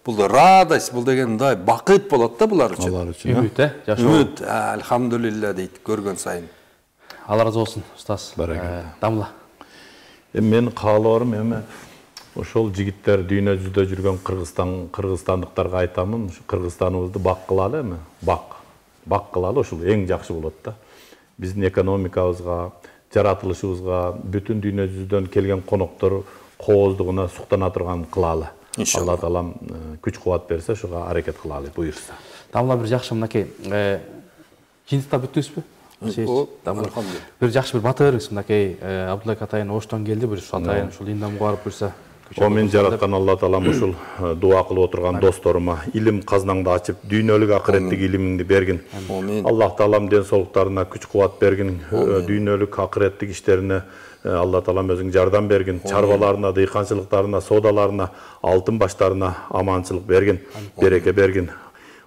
Бул радость, бул деген мындай бакыт болот да булар үчүн. Алар үчүн. Үмүт, э, жашоо. Үмүт, альхамдулилля дейт көргөн сайын. Алла разы болсун, устаз. Дамла. Эми менин каалоорум эми ошол жигиттер дүйнө жүзүндө жүргөн Кыргызстан, кыргызстандыктарга айтамын, Кыргызстаныбызды бак кылалы эми, бак. Бак кылалы, ошол эң жакшы болот да. Биздин экономикабызга, жаратылышыбызга, бүтүн дүйнө жүзүнөн келген коноктор кооздугуна суктана турган кылалы. Алла таалам күч кубат берсе, ошого аракет кылалы, буйрса. Дамла бир жакшы мынакей, жыйынтыкта бүттүңүзбү? Бир жакшы бир бата бериңиз мынакей, Абдулайк атайын оштон келди, бир атайын ушул Индомго барып буйрса. О мен жараткан Алла таалам ушул дуа кылып отурган досторума илим казнаңды ачып, дүйнөлүк акыреттик илимиңди бергин. Аллах таалам ден соолуктарына күч кубат бергин, дүйнөлүк акыреттик иштерине Алла таалам өзүң жардам бергин, чарбаларына, дыйканчылыктарына, соодаларына, алтын баштарына аманчылык бергин, береке бергин.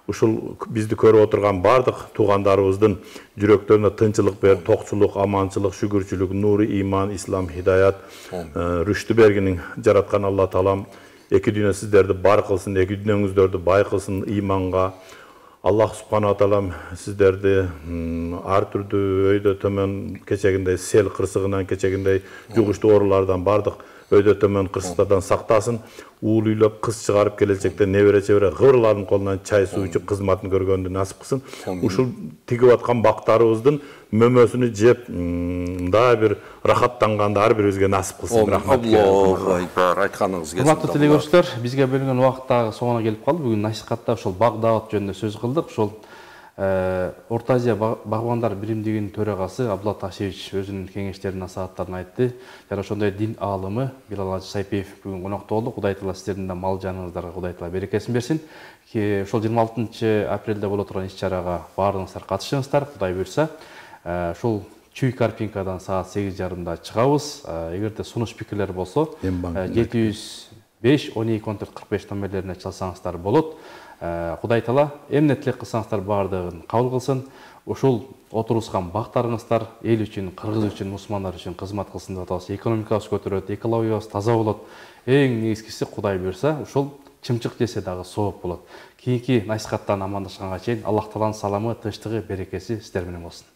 Ушул бизди көрүп отурган бардык туугандарыбыздын жүрөктөрүнө тынчылык бер, токчулук, аманчылык, шүгүрчүлүк, нуру, иман, ислам, хидаят, рүштү бергинин жараткан Алла таалам эки дүйнө сиздерди бар кылсын, эки дүйнөңүздөрдү бай кылсын иманга. Аллах субхана таалам сиздерди ар түрдүү өйдө төмөн кечегиндей сел кырсыгынан, кечегиндей жугуштуу оорулардан бардык өйдө төмөн кырсыктардан сактасын. Уул үйлөп кыз чыгарып келечекте небере чебере кыбырлардын колунан чай суу ичип кызматын көргөндү насип кылсын. Ушул тигип аткан бактарыбыздын мөмөсүнү жеп, мындай бир рахаттанганды ар бирибизге насип кылсын. Рахмат. Аллаху акбар. Айтканыңыз келсин. Урматтуу телекөрүүчүлөр, бизге бөлүнгөн убакыт дагы соңуна келип калды. Бүгүн насихатта ошол бак даават жөнүндө сөз кылдык. Ошол Орто Азия Багбандар биримдигинин төрагасы Абдулла Ташевич өзүнүн кеңештерин, насааттарын айтты. Жана ошондой дин аалымы Билал Ажы Сайпиев бүгүн конокто болду. Кудай Таала сиздердин да мал жаныңыздарга Кудай Таала берекесин берсин. Ошол жыйырма алтынчы апрелде боло турган иш-чарага баарыңыздар катышыңыздар. Кудай буйрса, ушул Чүй Карпинкадан саат сегиз жарымда чыгабыз. Эгерде сунуш пикирлер болсо, жети жүз беш он эки он төрт кырк беш номерлерине чалсаңыздар болот. Кудай Таала эмне тилек кылсаңыздар баардыгын кабыл кылсын. Ушул отурушкан бактарыңыздар эл үчүн, кыргыз үчүн, мусулмандар үчүн кызмат кылсын деп атабыз. Экономикабыз көтөрөт, экологиябыз таза болот. Эң негизгиси Кудай буйрса, ушул чымчык жесе дагы сооп болот. Кийинки насихаттан амандашканга чейин Аллах Тааланын саламы, тынчтыгы, берекеси сиздер менен болсун.